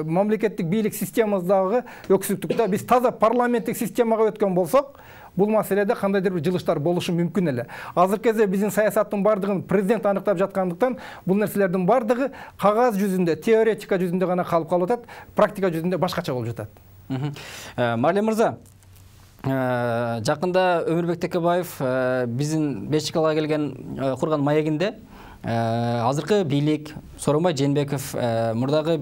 мамлекеттик бийлик системабыздагы өксүктүктө. Биз таза парламенттик системага өткөн болсок, бул маселеде кандайдыр бир жылыштар болушу мүмкүн эле. Азыркы кезде биздин саясаттын бардыгын президент аныктап жаткандыктан, бул нерселердин бардыгы кагаз жүзүндө, теоретика жүзүндө гана калып атат, практика жүзүндө башкача болуп жатат.
Марлен мырза, жакында Өмүрбек Текебаев биздин Бешикалга келген курган маегинде азыркы бийлик Сооронбай Жээнбеков мурдагы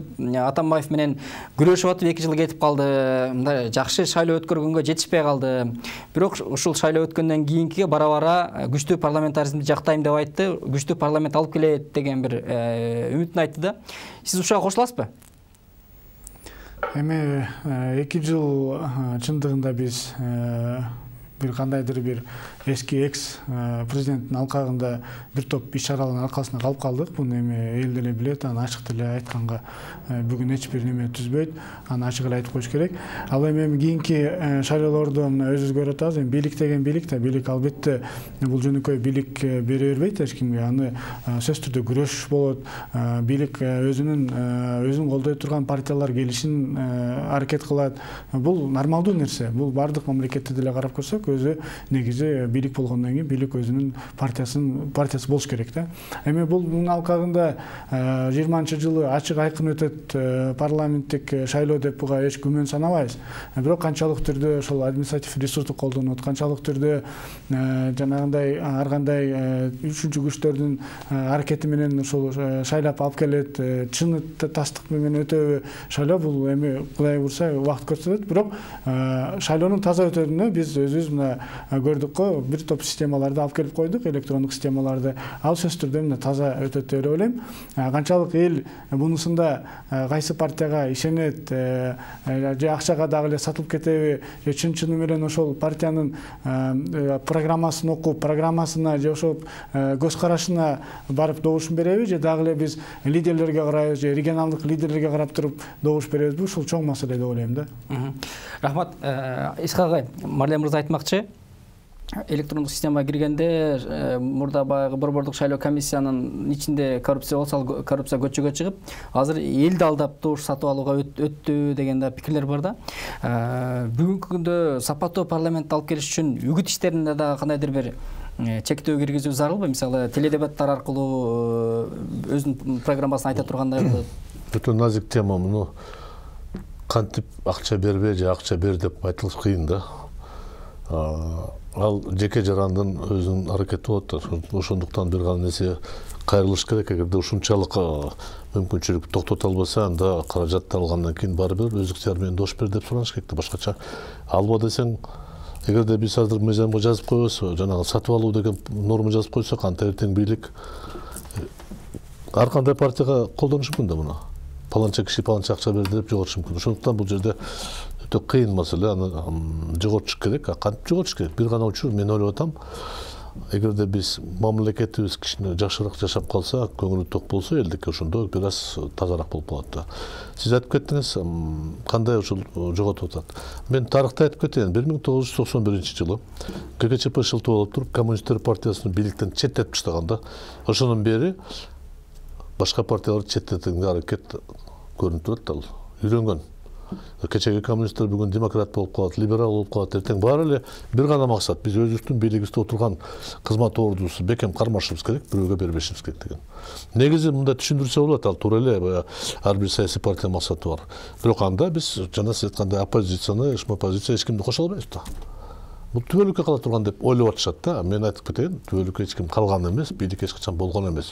Атамбаев менен күрөшүп атып 2 жыл кетип калды. Мындай жакшы шайлоо өткөргөнгө жетишпей калды. Бирок ушул шайлоо өткөндөн кийинкиге бара-бара күчтүү парламентаризмди жактайм деп айтты, күчтүү парламент алып келет деген бир үмүтүн айтты да. Сиз ушуга кошуласызбы?
Эми 2 жыл чындыгында биз бир кандайдыр бир эски экс президенттин алкагында бир топ иш-чаралардын аркасында калып калдык. Буну эми эл деле билет, аны ачык деле айтканга бүгүн эч бир неме түзбөйт. Аны ачык эле айтып коюш керек. Ал эми кийинки шайлоолордо мына өзүбүз көрүп атабыз. Эми бийлик деген бийлик да, бийлик албетте бул жөнөкөй бийлик бере бербейт эч кимге. Аны сөзсүз түрдө күрөш болот. Бийлик өзүн колдой турган партиялар келишин аракет кылат. Бул нормалдуу нерсе. Бул бардык мамлекетте деле карап көрсөк, өзү негизи бийлик болгондон кийин бийлик өзүнүн партиясы болуш керек да. Эми бунун алкагында 20-жылы ачык айкын өтөт парламенттик шайлоо деп буга эч күмөн санабайбыз. Бирок канчалык түрдө ошол административ ресурсту колдонот, канчалык түрдө жанагындай ар кандай үчүнчү күчтөрдүн аракети менен ошол шайлап алып келет, чын тастык менен өтөбү шайлоо, бул эми Кудай бурса убакыт көрсөтөт. Бирок шайлоонун таза өтөтүнө биз өзүбүз көрдүк го, бир топ системаларды алып келип койдук, электрондук системаларды. Ал сөзсүз түрдө мына таза өтөт деп ойлойм. Канчалык эл бунусунда кайсы партияга ишенет, же акчага дагы эле сатылып кетеби, же чын-чыны менен ошол партиянын программасын окуп, программасына же ошол көз карашына барып добушун береби, же дагы эле биз лидерлерге карайбыз, же регионалдык лидерлерге карап туруп добуш беребизби? Ушул чоң маселе деп ойлойм да.
Рахмат. Исхак агай, Марлен мырза айтмакчы, электрондук системага киргенде мурда баягы борбордук шайлоо комиссиянын ичинде коррупция болсо, ал коррупция көчөгө чыгып, азыр элди алдап добуш сатып алууга өттү деген да пикирлер бар да. Бүгүнкү күндө сапаттуу парламент алып келиш үчүн үгүт иштеринде да кандайдыр бир чектөө киргизүү зарылбы? Мисалы, теледебаттар аркылуу өзүнүн программасын айта тургандай болот.
Өтө назик тема. Муну кантип акча бербей же акча бер деп айтылыш кыйын да. Ал жеке жарандын өзүнүн аракети болот. Ошондуктан бир гана нерсе кайрылыш керек. Эгерде ушунчалык мүмкүнчүлүк токтото албаса, анда каражатты алгандан кийин барбыр өз ыктыяры менен добуш бер деп сураныш керек да. Башкача алба десең, эгерде биз азыр мыйзамга жазып койбосо, жанагы сатып алуу деген норма жазып койсок, анда эртең бийлик ар кандай партияга колдонушу мүмкүн да муну. Паланча киши паланча акча берди деп жоготушу мүмкүн. Ошондуктан бул жерде өтө кыйын маселе. Аны жоготуш керек. Кантип жоготуш керек? Бир гана учур, мен ойлоп атам, эгерде биз мамлекетибиз кичине жакшыраак жашап калса, көңүлү ток болсо, элдикке ошондо бир аз тазараак болуп калат да. Сиз айтып кеттиңиз, кандай ушул жоготуп атат. Мен тарыхты айтып кетейин. 1991-жылы ККЧП шылтоо болуп туруп, Коммунисттер партиясын бийликтен четтетип таштаганда, ошондон бери башка партияларды четтетүүгө аракет көрүнүп турат. Ал үйрөнгөн. кечеги коммунисттер бүгүн демократ болуп калат, либерал болуп калат. Эртең баары эле бир гана максат. Биз өзүбүздүн бийлигибизде отурган кызмат ордубузду бекем кармашыбыз керек, бирөөгө бербешибиз керек деген. Негизи мындай түшүндүрсө болот, ал туура эле ар бир саясий партиянын максаты бар. Бирок анда биз жана сиз айткандай оппозицияны, оппозиция эч кимди кошо албайбыз да. Бул түбөлүккө кала турган деп ойлоп атышат да. Мен айтып кетейин, түбөлүккө эч ким калган эмес, бийлик эч качан болгон эмес.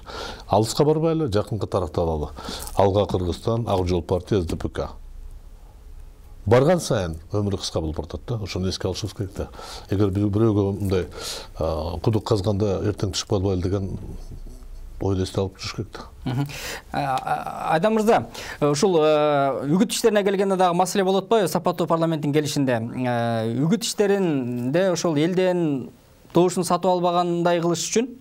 Алыска барбайлы, жакынкы тарапта алалы. Алга Кыргызстан, Ак Жол партия, СДПК. Барган сайын өмүрү кыска болуп баратат да. Ошону эске алышыбыз керек да. Эгер бирөөгө мындай кудук казганда эртең түшүп калбайлы деген ойду эсте алып туруш керек да.
Айдан мырза, ушул үгүт иштерине келгенде дагы маселе болот атпайбы сапаттуу парламенттин келишинде? Үгүт иштеринде ошол элден добушун сатып албагандай кылыш үчүн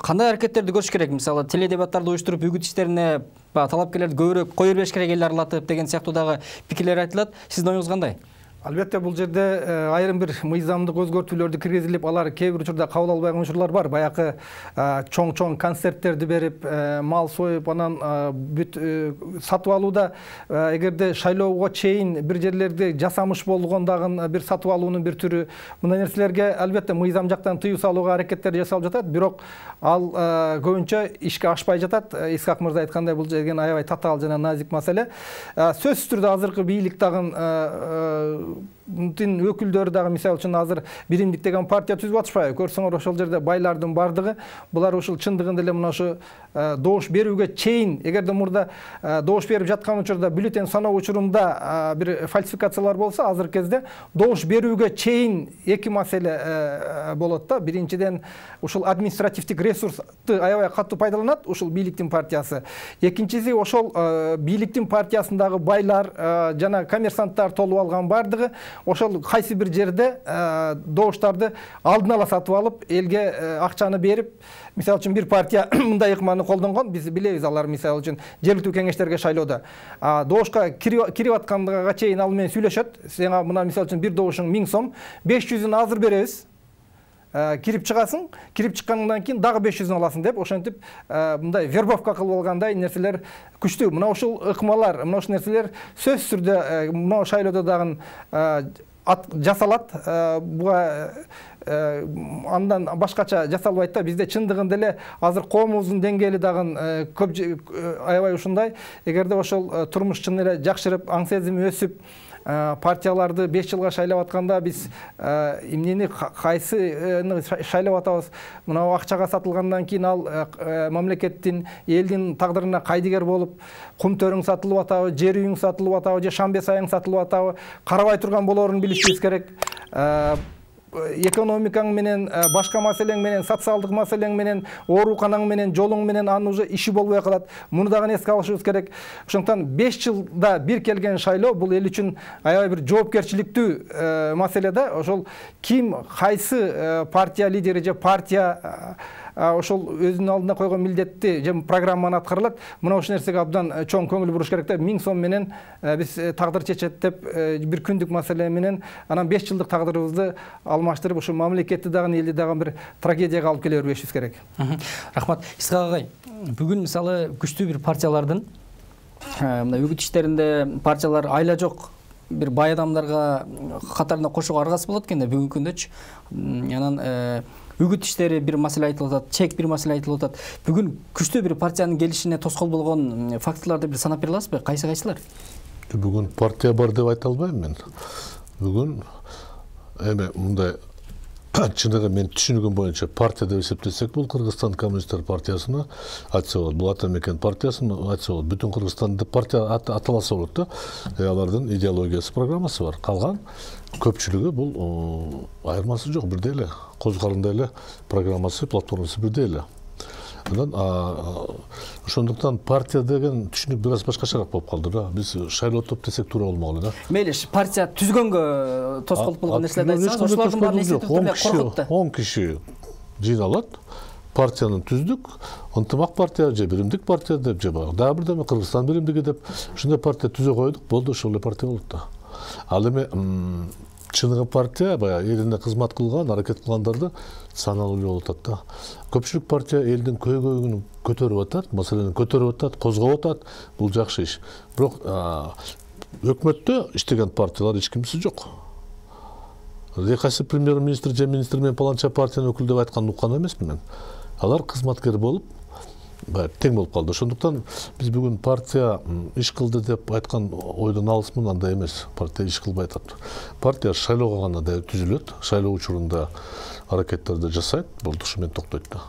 кандай аракеттерди көрүш керек? Мисалы, теледебаттарды уюштуруп үгүт иштерине талапкерлерди көбүрөөк кое бербеш керек, эл аралатып деген сыяктуу дагы пикирлер айтылат. Сиздин оюңуз кандай?
Албетте бул жерде айрым бир мыйзамдык өзгөртүүлөрдү киргизилип, алар кээ бир учурда кабыл албаган учурлар бар. Баягы чоң концерттерди берип, мал союп, анан бүт сатып алууда эгерде шайлоого чейин бир жерлерде жасамыш болгондагы бир сатып алуунун бир түрү. Мындай нерселерге албетте мыйзам жактан тыюу салууга аракеттер жасалып жатат, бирок ал көбүнчө ишке ашпай жатат. Исхак мырза айткандай, бул жерге аябай татаал жана назик маселе. Сөзсүз түрдө азыркы бийлик дагы өкүлдөрү дагы мисалы үчүн азыр биримдик деген партия түзүп атышпайбы? Көрсөңөр ошол жерде байлардын бардыгы булар ушул чындыгында эле мына ушу добуш берүүгө чейин, эгерде мурда добуш берип жаткан учурда бюллетень саноо учурунда бир фальсификациялар болсо, азыркы кезде добуш берүүгө чейин эки маселе болот да. Биринчиден, ушул административдик ресурсту аябай катуу пайдаланат ушул бийликтин партиясы. Экинчиси, ошол бийликтин партиясындагы байлар жана коммерсанттар толуп алган бардыгы ошол кайсы бир жерде добуштарды алдын ала сатып алып, элге акчаны берип, мисалы үчүн бир партия мындай ыкманы колдонгон, биз билебиз, алар мисалы үчүн жергиликтүү кеңештерге шайлоодо добушка кирип атканга чейин ал менен сүйлөшөт. Сага мына мисалы үчүн бир добушуң 1000 сом, 500-ын азыр беребиз. Кирип чыгасың, кирип чыккандан кийин дагы 500-ын аласың деп, ошентип мындай вербовка кылып алгандай нерселер күчтүү. Мына ушул ыкмалар, мына ушул нерселер сөзсүз түрдө мына шайлоодо дагы жасалат. Буга андан башкача жасалбайт да. Бизде чындыгында эле азыр коомубуздун деңгээли дагы көп аябай ушундай. Эгерде ошол турмуш чын эле жакшырып, аң сезими өсүп, партияларды 5 жылга шайлап атканда биз эмнени кайсыны шайлап атабыз, мына акчага сатылгандан кийин ал мамлекеттин, элдин тагдырына кайдыгер болуп, кум төрүң сатылып атабы, жер үйүң сатылып атабы, же шамбе сайың сатылып атабы, карабай турган болоорун билишибиз керек. Экономикаң менен, башка маселең менен, социалдык маселең менен, ооруканаң менен, жолуң менен анын уже иши болбой калат. Муну дагы эске алышыбыз керек. Ошондуктан 5 жылда бир келген шайлоо бул эл үчүн аябай бир жоопкерчиликтүү маселе да. Ошол ким, кайсы партия лидери же партия ошол өзүнүн алдына койгон милдетти же программаны аткарылат. Мына ошол нерсеге абдан чоң көңүл буруш керек да. 1000 сом менен биз тагдыр чечет деп бир күндүк маселе менен анан 5 жылдык тагдырыбызды алмаштырып, ушу мамлекетти дагы, элди дагы бир трагедияга алып келе бербешибиз керек.
Рахмат. Исхак агай, бүгүн мисалы күчтүү бир партиялардын мына үгүт иштеринде партиялар айла жок бир бай адамдарга катарына кошууга аргасы болот экен да бүгүнкү күндөчү. Анан үгүт иштери бир маселе айтылып атат, чек бир маселе айтылып атат. Бүгүн күчтүү бир партиянын келишине тоскоол болгон факторлорду бир санап бере аласызбы? Кайсылар?
Бүгүн партия бар деп айта албайм мен. Бүгүн эми мындай чыныгы мен түшүнүгүм боюнча партия деп эсептесек, бул Кыргызстан коммунисттер партиясына айтса болот, бул ата мекен партиясына айтса болот, бүтүн Кыргызстанды партия аталаса болот да. Алардын идеологиясы, программасы бар. Калган көпчүлүгү бул айырмасы жок, бирдей эле, козгарындай эле программасы, платформасы бирдей эле. Анан ошондуктан партия деген түшүнүк бир аз башкачараак болуп калды да. Биз шайлоо топ десек туура болмоклу да.
Мейли, партия түзгөнгө тоскоолдук болгон нерселерди айтсаңыз, ошолордун баарын эсептеп
10 киши жыйналат. Партияны түздүк, ынтымак партия же биримдик партия деп, же дагы бирдеме Кыргызстан биримдиги деп ушундай партия түзө койдук, болду, ошол эле партия болот да. Ал эми чыныгы партия баягы элине кызмат кылган, аракет кылгандарды саналуу эле болуп атат да. Көпчүлүк партия элдин көйгөйүн көтөрүп атат, маселени көтөрүп атат, козгоп атат. Бул жакшы иш. Бирок өкмөттө иштеген партиялар эч кимиси жок. Кайсы премьер-министр же министр менен паланча партиянын өкүлү деп айтканды уккан эмесмин мен. Алар кызматкер болуп, тең болуп калды. Ошондуктан биз бүгүн партия иш кылды деп айткан ойдон алысмын, андай эмес. Партия иш кылбай атат. Партия шайлоого гана да түзүлөт, шайлоо учурунда аракеттерди жасайт, болтушу менен токтойт да.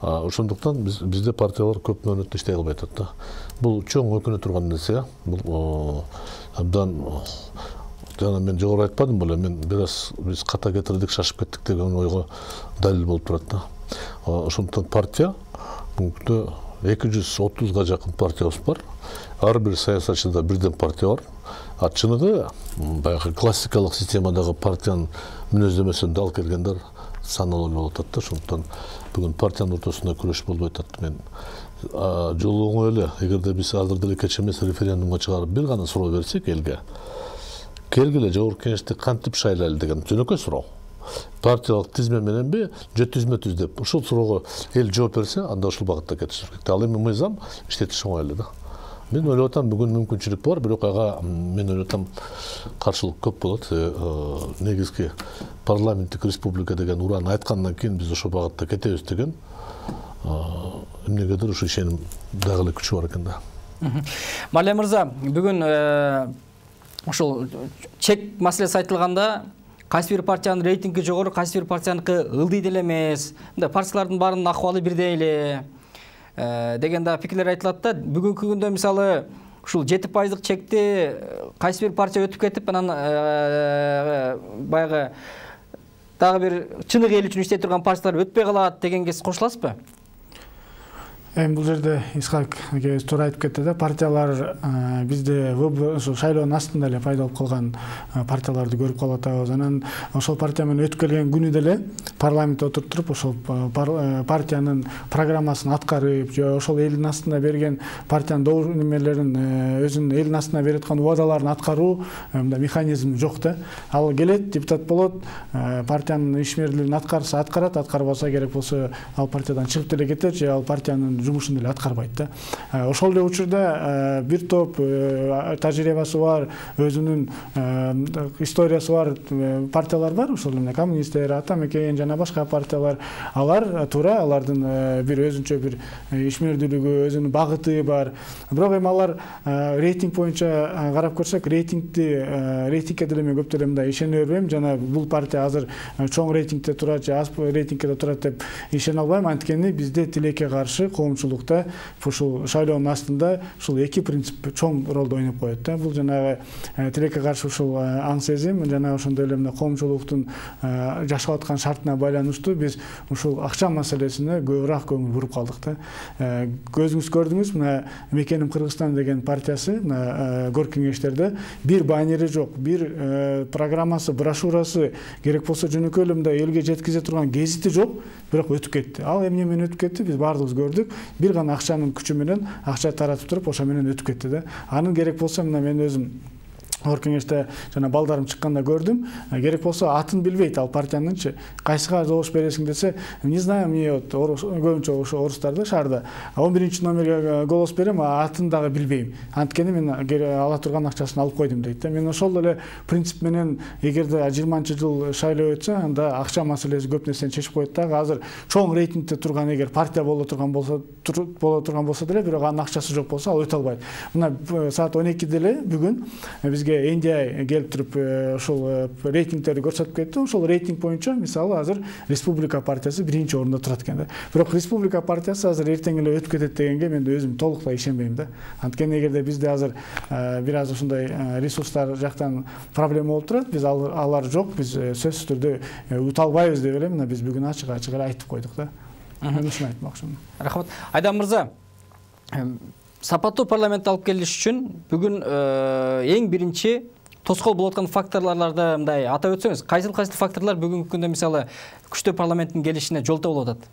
Ошондуктан бизде партиялар көп мөөнөттө иштей албай атат да. Бул чоң өкүнө турган нерсе. Бул абдан жана мен жогору айтпадым беле, мен биз ката кетирдик, шашып кеттик деген ойго далил болуп турат да. Ошондуктан партия бүгүнкү 230га жакын партиябыз бар. Ар бир саясатчыда бирден партия бар. Чыныгы баягы классикалык системадагы партиянын мүнөздөмөсүн алып келгендер саналуу болуп атат да. Ошондуктан бүгүн партиянын ортосунда күрөш болбой атат. Мен жолу оңой эле, эгерде биз азыр деле кеч эмес референдумга чыгарып бир гана суроо берсек элге, келгиле жогорку кеңешти кантип шайлайлы деген жөнөкөй суроо. Партиялык тизме мененби, же түзмө-түз деп ушул суроого эл жооп берсе, анда ушул багытта кетишибиз керек. Ал эми мыйзам иштетиш оңой эле да. Мен ойлоп атам, бүгүн мүмкүнчүлүк бар, бирок ага мен ойлоп атам каршылык көп болот. Негизги парламенттик республика деген урааны айткандан кийин биз ошол багытта кетебиз деген эмнегедир ушу ишеним дагы эле күчү бар экен да.
Маалия мырза, бүгүн ушул чек маселеси айтылганда, кайсы бир партиянын рейтинги жогору, кайсы бир партияныкы ылдый деле эмес, мындай партиялардын баарынын акыбалы бирдей эле деген да пикирлер айтылат да. Бүгүнкү күндө мисалы ушул 7% чекти кайсы бир партия өтүп кетип, анан баягы дагы бир чыныгы эл үчүн иштей турган партиялар өтпөй калат дегенге сиз кошуласызбы?
Бул жерде Исхак акебиз туура айтып кетти да, партиялар бизде ошо шайлоонун астында эле пайда болуп калган партияларды көрүп калып атабыз. Анан ошол партия менен өтүп келген күнү деле парламентте отуруп ошол партиянын программасын аткарып, же ошол элдин астында берген партиянын немелерин, өзүнүн элдин астына берип аткан убадаларын аткаруу мындай механизми жок да. Ал келет, депутат болот, партиянын ишмердүүлүгүн аткарса аткарат, аткарбаса керек болсо ал партиядан чыгып деле кетет, же ал партиянын жумушун деле аткарбайт да. Ошол эле учурда бир топ тажрыйбасы бар, өзүнүн историясы бар партиялар бар, ошол эле коммунисттер, ата мекен жана башка партиялар. Алар туура, алардын бир өзүнчө бир ишмердүүлүгү, өзүнүн багыты бар. Бирок эми алар рейтинг боюнча карап көрсөк, рейтингке деле мен көп деле мындай ишене бербейм. Жана бул партия азыр чоң рейтингде турат же аз рейтингде турат деп ишене албайм. Анткени бизде тилекке каршы коомчулукта ушул шайлоонун астында ушул эки принцип чоң ролду ойноп коет да. Бул жанагы тилекке каршы ушул аң сезим жана ошондой эле мына коомчулуктун жашап аткан шартына байланыштуу биз ушул акча маселесине көбүрөөк көңүл буруп калдык да. Көзүңүз көрдүңүз, мына Мекеним Кыргызстан деген партиясы мына горкий кеңештерде бир баннери жок, бир программасы, брошюрасы, керек болсо жөнөкөй эле мындай элге жеткизе турган гезити жок, бирок өтүп кетти. Ал эмне менен өтүп кетти, биз баардыгыбыз көрдүк. Бир гана акчанын күчү менен акча таратып туруп, ошо менен өтүп кетти да. Анын керек болсо мына мен өзүм Орун кеңеште жана балдарым чыкканда көрдүм. Керек болсо атын билбейт ал партиянынчы. Кайсыга добуш бересиң десе, не знаю, мне вот көбүнчө ошо орустарда шаарда 11-чи номерге голос берем, атын дагы билбейм. Анткени мен ала турган акчасын алып койдум дейт да. Мен ошол эле принцип менен эгерде 20-жыл шайлоо өтсө, анда акча маселеси көп нерсени чечип коет да. Азыр чоң рейтингде турган эгер партия боло турган болсо деле, бирок анын акчасы жок болсо, ал өтө албайт. Мына саат 12-де эле бүгүн бизге NDI келип туруп ошол рейтингтерди көрсөтүп кетти. Ошол рейтинг боюнча мисалы азыр Республика партиясы 1-чи орунда турат экен да. Бирок Республика партиясы азыр эртең эле өтүп кетет дегенге мен өзүм толуктай ишенбейм да. Анткени эгерде бизде азыр бир аз ушундай ресурстар жактан проблема болуп турат, биз алар жок, биз сөзсүз түрдө ута албайбыз деп эле мына биз бүгүн ачык эле айтып койдук да. Мен ушуну айтмакчымын.
Рахмат. Айдан мырза, сапаттуу парламентти алып келиш үчүн бүгүн эң биринчи тоскоол болуп аткан факторлорду мындай атап өтсөңүз, кайсыл факторлор бүгүнкү күндө мисалы күчтүү парламенттин келишине жолтоо болуп атат?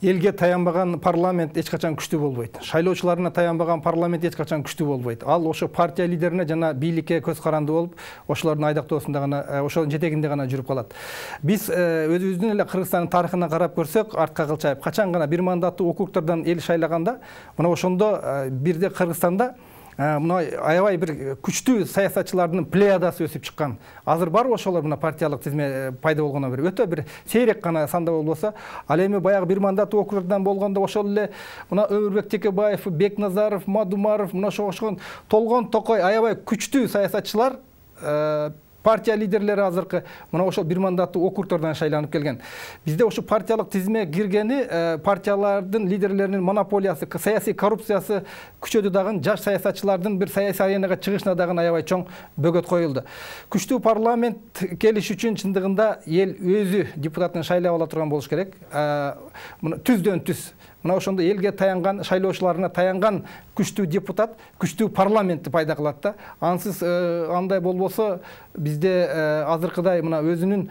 Элге таянбаган парламент эч качан күчтүү болбойт. Шайлоочуларына таянбаган парламент эч качан күчтүү болбойт. Ал ошо партия лидерине жана бийликке көз каранды болуп, ошолордун айдактоосунда гана, ошонун жетегинде гана жүрүп калат. Биз өзүбүздүн эле Кыргызстандын тарыхына карап көрсөк, артка кылчайып, качан гана бир мандаттуу округдардан эл шайлаганда, мына ошондо бирде Кыргызстанда мына аябай бир күчтүү саясатчылардын плеядасы өсүп чыккан. Азыр бар ошолор мына партиялык тизме пайда болгондон бери өтө бир сейрек гана санда болбосо, ал эми баягы бир мандаттуу округдардан болгондо ошол эле мына Өмүрбек Текебаев, Бекназаров, Мадумаров, мына ошол Толгон Токой аябай күчтүү саясатчылар, партия лидерлери азыркы мына ошол бир мандаттуу округдардан шайланып келген. Бизде ошо партиялык тизме киргени партиялардын лидерлеринин монополиясы, саясий коррупциясы күчөдү дагы, жаш саясатчылардын бир саясий аренага чыгышына дагы аябай чоң бөгөт коюлду. Күчтүү парламент келиш үчүн чындыгында эл өзү депутатын шайлап ала турган болуш керек. Мына түздөн түз мына ошондо элге таянган, шайлоочуларына таянган күчтүү депутат, күчтүү парламентти пайда кылат да. Ансыз андай болбосо бизде азыркыдай мына өзүнүн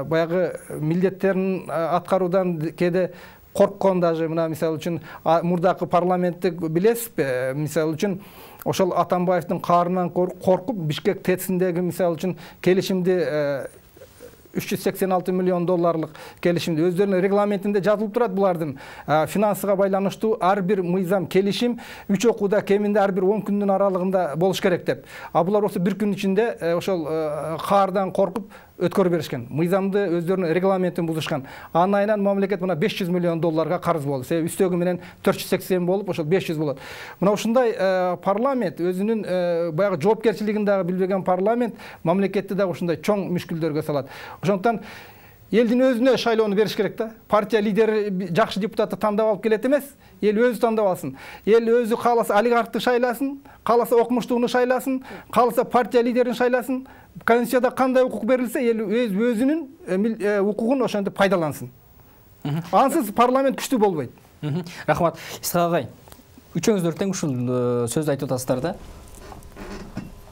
баягы милдеттерин аткаруудан кээде корккон, даже мына мисалы үчүн мурдакы парламентти билесизби? Мисалы үчүн ошол Атамбаевдин каарынан коркуп Бишкек ТЭЦиндеги мисалы үчүн келишимди $386 миллион келишимди өздөрүнүн регламентинде жазылып турат. Булардын финансыга байланыштуу ар бир мыйзам, келишим 3 окууда кеминде ар бир 10 күндүн аралыгында болуш керек деп. Булар болсо бир күн ичинде ошол каардан коркуп өткөрүп беришкен. Мыйзамды өздөрүнүн регламентин бузушкан. Анын айынан мамлекет мына $500 миллион карыз болду. Себеби үстөгү менен 480 болуп, ошол 500 болот. Мына ушундай парламент өзүнүн баягы жоопкерчилигин дагы билбеген парламент мамлекетти дагы ушундай чоң мүшкүлдөргө салат. Ошондуктан элдин өзүнө шайлоону бериш керек да. Партия лидери жакшы депутатты тандап алып келет эмес, эл өзү тандап алсын. Эл өзү кааласа олигархты шайласын, кааласа окумуштууну шайласын, кааласа партия лидерин шайласын. Конституцияда кандай укук берилсе, эл өзүнүн укугун ошентип пайдалансын. Ансыз парламент күчтүү болбойт.
Рахмат. Исхак агай, үчөөңүздөр тең ушул сөздү айтып атасыздар да.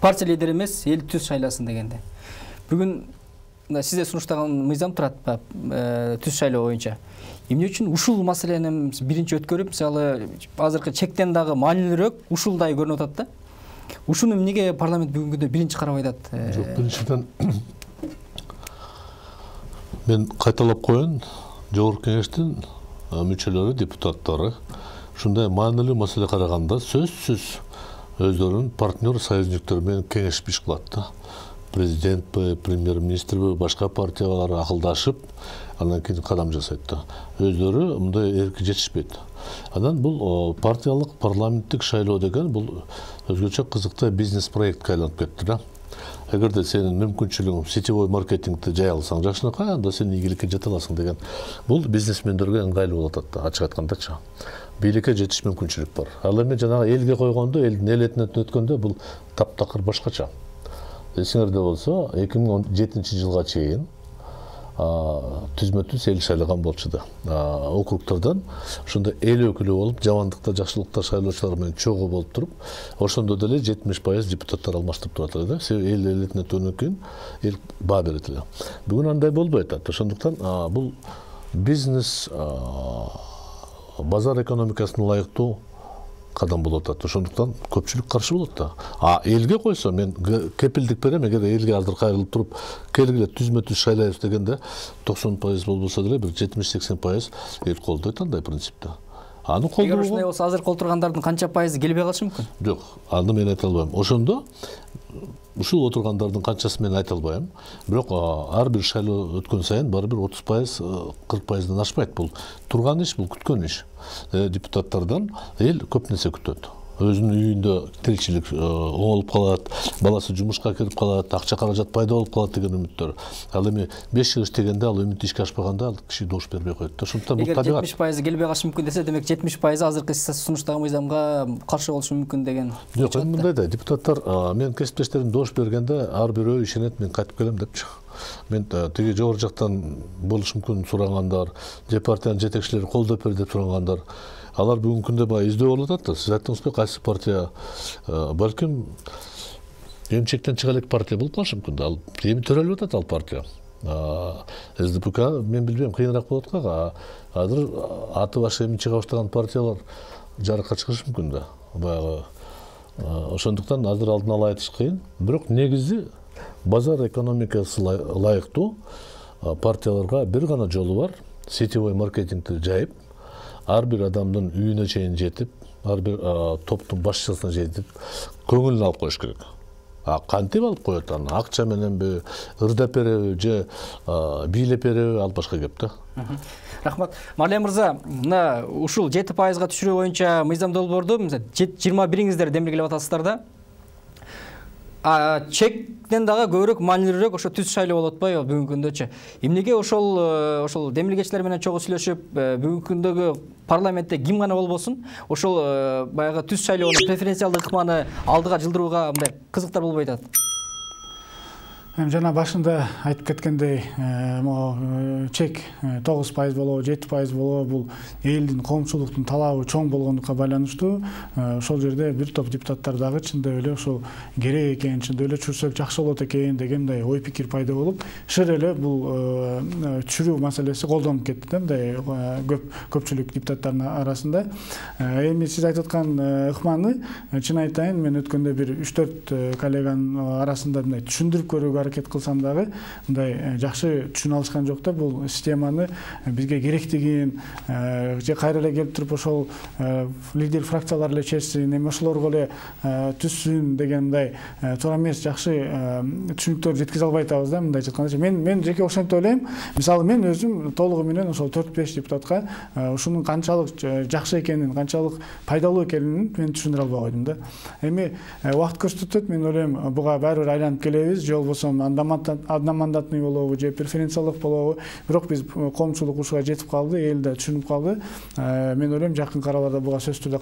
Партия лидери эмес, эл түз шайласын дегенде. Бүгүн сизде сунуштаган мыйзам турат түз шайлоо боюнча. Эмне үчүн ушул маселени биринчи өткөрүп, мисалы азыркы чектен дагы маанилүүрөөк ушулдай көрүнүп атат да. Ушуну эмнеге парламент бүгүнкү күндө биринчи карабай атат?
Жок, биринчиден мен кайталап коеюн, жогорку кеңештин мүчөлөрү, депутаттары ушундай маанилүү маселе караганда сөзсүз өздөрүнүн партнер союзниктер менен кеңешип иш кылат да. Президентпи, премьер-министрби, башка партиялар акылдашып, андан кийин кадам жасайт да. Өздөрү мындай эрки жетишпейт. Анан бул партиялык парламенттик шайлоо деген бул өзгөчө кызыктуу бизнес проектке айланып кетти да. Эгерде сенин мүмкүнчүлүгүң сетевой маркетингди жай алсаң жакшынакай, анда сен ийгиликке жете аласың деген. Бул бизнесмендерге ыңгайлуу болуп атат да, ачык айткандачы. Бийликке жетиш мүмкүнчүлүк бар. Ал эми жанагы элге койгондо, элдин эл этинен өткөндө бул таптакыр башкача. Эсиңерде болсо, 2017 жылга чейин түзмө-түз эл шайлаган болчу да. Округдардан ошондо эл өкүлү болуп, жамандыкта, жакшылыкта шайлоочулар менен чогуу болуп туруп, ошондо деле 70% депутаттар алмаштырып турат эле да. Себеби эл элетине өткөндөн кийин эл баа берет эле. Бүгүн андай болбой атат. Ошондуктан бул бизнес базар экономикасына ылайыктуу кадам болуп атат. Ошондуктан көпчүлүк каршы болот да. Элге койсо мен кепилдик берем, эгер элге азыр кайрылып туруп, келгиле түзмө-түз шайлайбыз дегенде 90% болбосо деле бир 70-80% эл колдойт андай принципте. Аны колдойт.
Эгер ушундай болсо азыр колтургандардын канча пайызы келбей калышы мүмкүн?
Жок, аны мен айта албайм. Ошондо ушул отургандардын канчасы мен айта албайм. Бирок ар бир шайлоо өткөн сайын барыбир 30%, 40%дан ашпайт. Бул турган иш, бул күткөн иш. Депутаттардан эл көп нерсе күтөт. Өзүнүн үйүндө тиричилик оңолуп калат, баласы жумушка кирип калат, акча каражат пайда болуп калат деген үмүттөр. Ал эми 5 жыл иштегенде ал үмүт ишке ашпаганда ал киши добуш бербей коет. Ошондуктан бул табигат.
Эгер 70% келбей калышы мүмкүн десе, демек 70% азыркы сунуштаган мыйзамга каршы болушу мүмкүн деген.
Жок, эми мындай да, депутаттар мен кесиптештерим добуш бергенде ар бирөө ишенет, мен кайтып келем депчи. Мен тиги жогору жактан болушу мүмкүн сурагандар, же партиянын жетекчилери колдоп бер деп сурагандар. Алар бүгүнкү күндө баа издөө болуп атат да. Сиз айттыңызбы, кайсы партия балким эмчектен чыга элек партия болуп калышы мүмкүн да. Ал эми төрөлүп атат ал партия. СДПК мен билбейм, кыйыныраак болот го. Азыр аты башы эми чыга баштаган партиялар жарыкка чыгышы мүмкүн да. Баягы ошондуктан азыр алдын ала айтыш кыйын. Бирок негизи базар экономикасы ылайыктуу партияларга бир гана жолу бар. Сетевой маркетингди жайып, ар бир адамдын үйүнө чейин жетип, ар бир топтун башчысына жетип, көңүлүн алып коюш керек. Кантип алып коет аны? Акча мененби, ырдап береби же бийлеп береби, ал башка кеп да.
Рахмат. Марлен мырза, мына ушул 7%га түшүрүү боюнча мыйзам долбоорду 21-иңиздер демилгелеп атасыздар да. Чектен дагы көбүрөөк маанилүүрөөк ошо түз шайлоо болуп атпайбы бүгүнкү күндөчү? Эмнеге ошол демилгечилер менен чогуу сүйлөшүп, бүгүнкү күндөгү парламентте ким гана болбосун, ошол баягы түз шайлоонун преференциалдык ыкманы алдыга жылдырууга мындай кызыктар болбой атат?
Жана башында айтып кеткендей, чек 9% болобу, 7% болобу, бул элдин, коомчулуктун талабы чоң болгондукка байланыштуу. Ошол жерде бир топ депутаттар дагы чындап эле ошол керек экен, чындап эле түшүрсөк жакшы болот экен деген мындай ой пикир пайда болуп, шыр эле бул түшүрүү маселеси колдонуп кетти да, мындай көпчүлүк депутаттардын арасында. Эми сиз айтып аткан ыкманы, чын айтайын, мен өткөндө бир 3-4 коллеганын арасында мындай түшүндүрүп көрүүгө аракет кылсам дагы мындай жакшы түшүнө алышкан жок да. Бул системаны бизге керектигин же кайра эле келип туруп ошол лидер фракциялар эле чечсин, эми ошолорго эле түшсүн деген мындай туура эмес жакшы түшүнүктөр жеткизе албай атабыз да. Мындай айтканда мен жеке ошентип ойлойм. Мисалы мен өзүм толугу менен ошол 4-5 депутатка ушунун канчалык жакшы экенин, канчалык пайдалуу экенин мен түшүндүрө албай койдум да. Эми убакыт көрсөтөт, мен ойлойм буга баары бир айланып келебиз, же болбосо одномандатный болобу же преференциялык болобу. Бирок биз коомчулук ушуга жетип калды, эл да түшүнүп калды. Мен ойлойм жакынкы араларда буга сөзсүз түрдө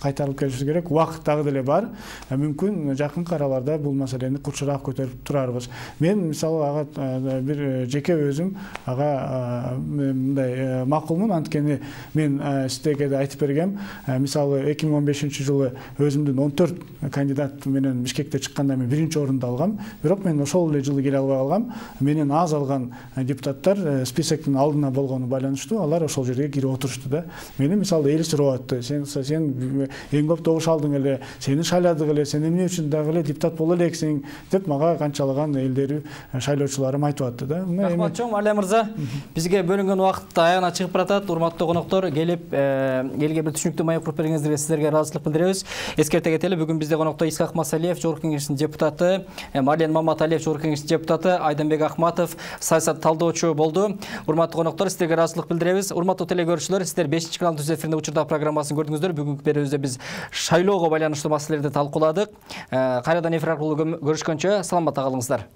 кайтарылып келишибиз керек. Убакыт дагы деле бар. Мүмкүн жакынкы араларда бул маселени курчураак көтөрүп турарбыз. Мен мисалы ага бир жеке өзүм ага мындай макулмун, анткени мен сиздерге да айтып бергем. Мисалы 2015-жылы өзүмдүн 14 кандидат менен Бишкекте чыкканда мен 1-орунду алгам. Бирок мен ошол эле жылы келе албай калгам. Менен аз алган депутаттар списоктун алдына болгону байланыштуу, алар ошол жерге кирип отурушту да. Мени мисалы эл сурап атты. Сен эң көп добуш алдың эле, сени шайладык эле, сен эмне үчүн дагы эле депутат боло элексиң деп мага канчалаган элдери, шайлоочуларым айтып атты да.
Рахмат чоң Марлен мырза. Бизге бөлүнгөн убакыт аягына чыгып баратат. Урматтуу коноктор, келип элге бир түшүнүктүү маек куруп бергениңиздерге сиздерге ыраазычылык билдиребиз. Эскерте кетели, бүгүн бизде конокто Исхак Масалиев, Жогорку Кеңештин депутаты, Марлен Маматалиев, Жогорку Кеңештин депутаты, Айданбек Ахматов, саясат талдоочу болду. Урматтуу коноктор, сиздерге ыраазычылык билдиребиз. Урматтуу телекөрүүчүлөр, сиздер 5-канал түз эфиринде учурда программасын көрдүңүздөр. Бүгүнкү берүүбүздө биз шайлоого байланыштуу маселелерди талкууладык. Кайрадан эфир аркылуу көрүшкөнчө саламатта калыңыздар.